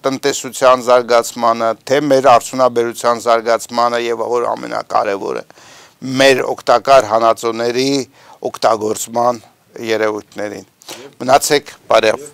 տնտեսության զարգացմանը, թե մեր արդյունաբերության զարգացմանը եւ որ ամենակարևորը մեր օգտակար հանածոների օգտագործման երևույթներին։ Մնացեք բարև։